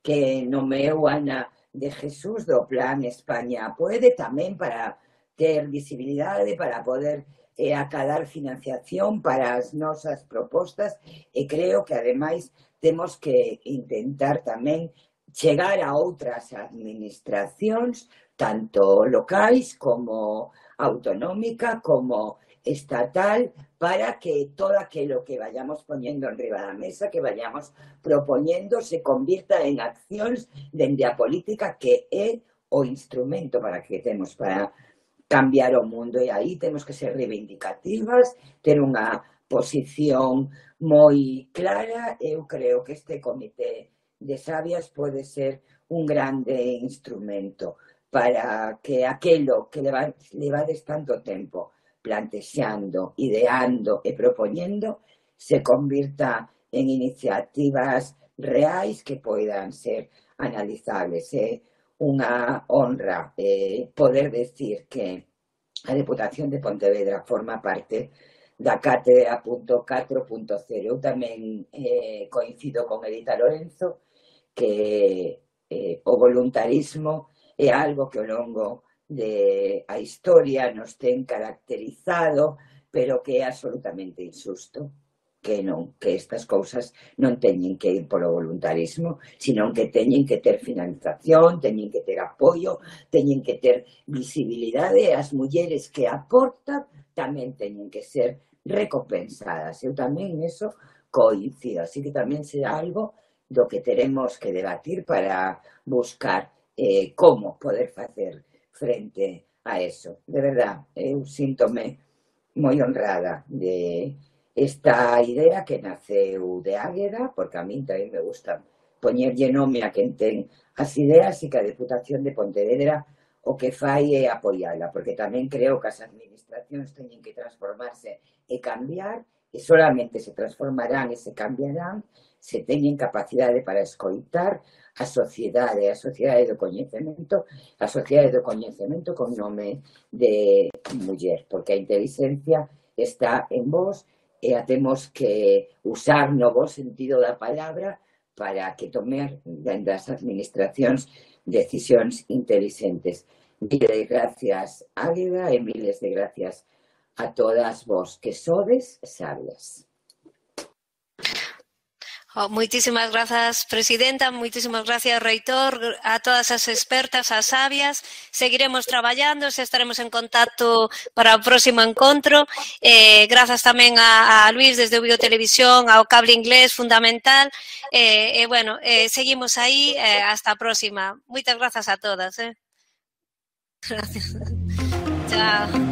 que nomeou Ana de Jesús do Plan España Puede, tamén para ter visibilidade, para poder eh, acadar financiación para as nosas propostas, e creo que ademais temos que intentar tamén chegar a outras administracións, tanto locais como autonómica, como estatal, para que todo aquello que vayamos poniendo enriba da mesa, que vayamos propoñendo, se convirta en accións dende a política, que é o instrumento para que temos para cambiar o mundo. E aí temos que ser reivindicativas, ter unha posición moi clara. Eu creo que este comité de sabias pode ser un grande instrumento para que aquelo que levades tanto tempo plantexando, ideando e propoñendo se convirta en iniciativas reais que poidan ser analizables. É unha honra eh, poder decir que a Deputación de Pontevedra forma parte da Cátedra catro punto cero. Eu tamén eh, coincido con Edita Lorenzo que eh, o voluntarismo é algo que ao longo de a historia nos ten caracterizado, pero que é absolutamente injusto, que non, que estas cousas non teñen que ir polo voluntarismo, sino que teñen que ter financiación, teñen que ter apoio, teñen que ter visibilidade, e as mulleres que aportan tamén teñen que ser recompensadas. Eu tamén eso coincido, así que tamén será algo do que teremos que debatir para buscar eh, como poder facer frente a eso. De verdad, eu síntome moi honrada de esta idea que naceu de Águeda, porque a mí tamén me gusta poñerlle nome a quen ten as ideas, e que a Deputación de Pontevedra o que fai é apoiala, porque tamén creo que as administracións teñen que transformarse e cambiar, e solamente se transformarán e se cambiarán se teñen capacidade para escoitar a sociedade, a sociedade do coñecemento, a sociedade do coñecemento con nome de muller, porque a inteligencia está en vos e a temos que usar no bo sentido da palabra para que tomer dende as administracións decisións intelixentes. Miles de gracias, Águeda, e miles de gracias a todas vos que sodes sabias. Oh, moitísimas grazas, Presidenta, moitísimas gracias, Reitor, a todas as expertas, as sabias. Seguiremos traballando, se estaremos en contacto para o próximo encontro. Eh, grazas tamén a, a Luís desde Vigo Televisión, ao Cable Inglés, fundamental. E eh, eh, bueno, eh, seguimos aí, eh, hasta a próxima. Moitas grazas a todas. Eh. Gracias. Chao.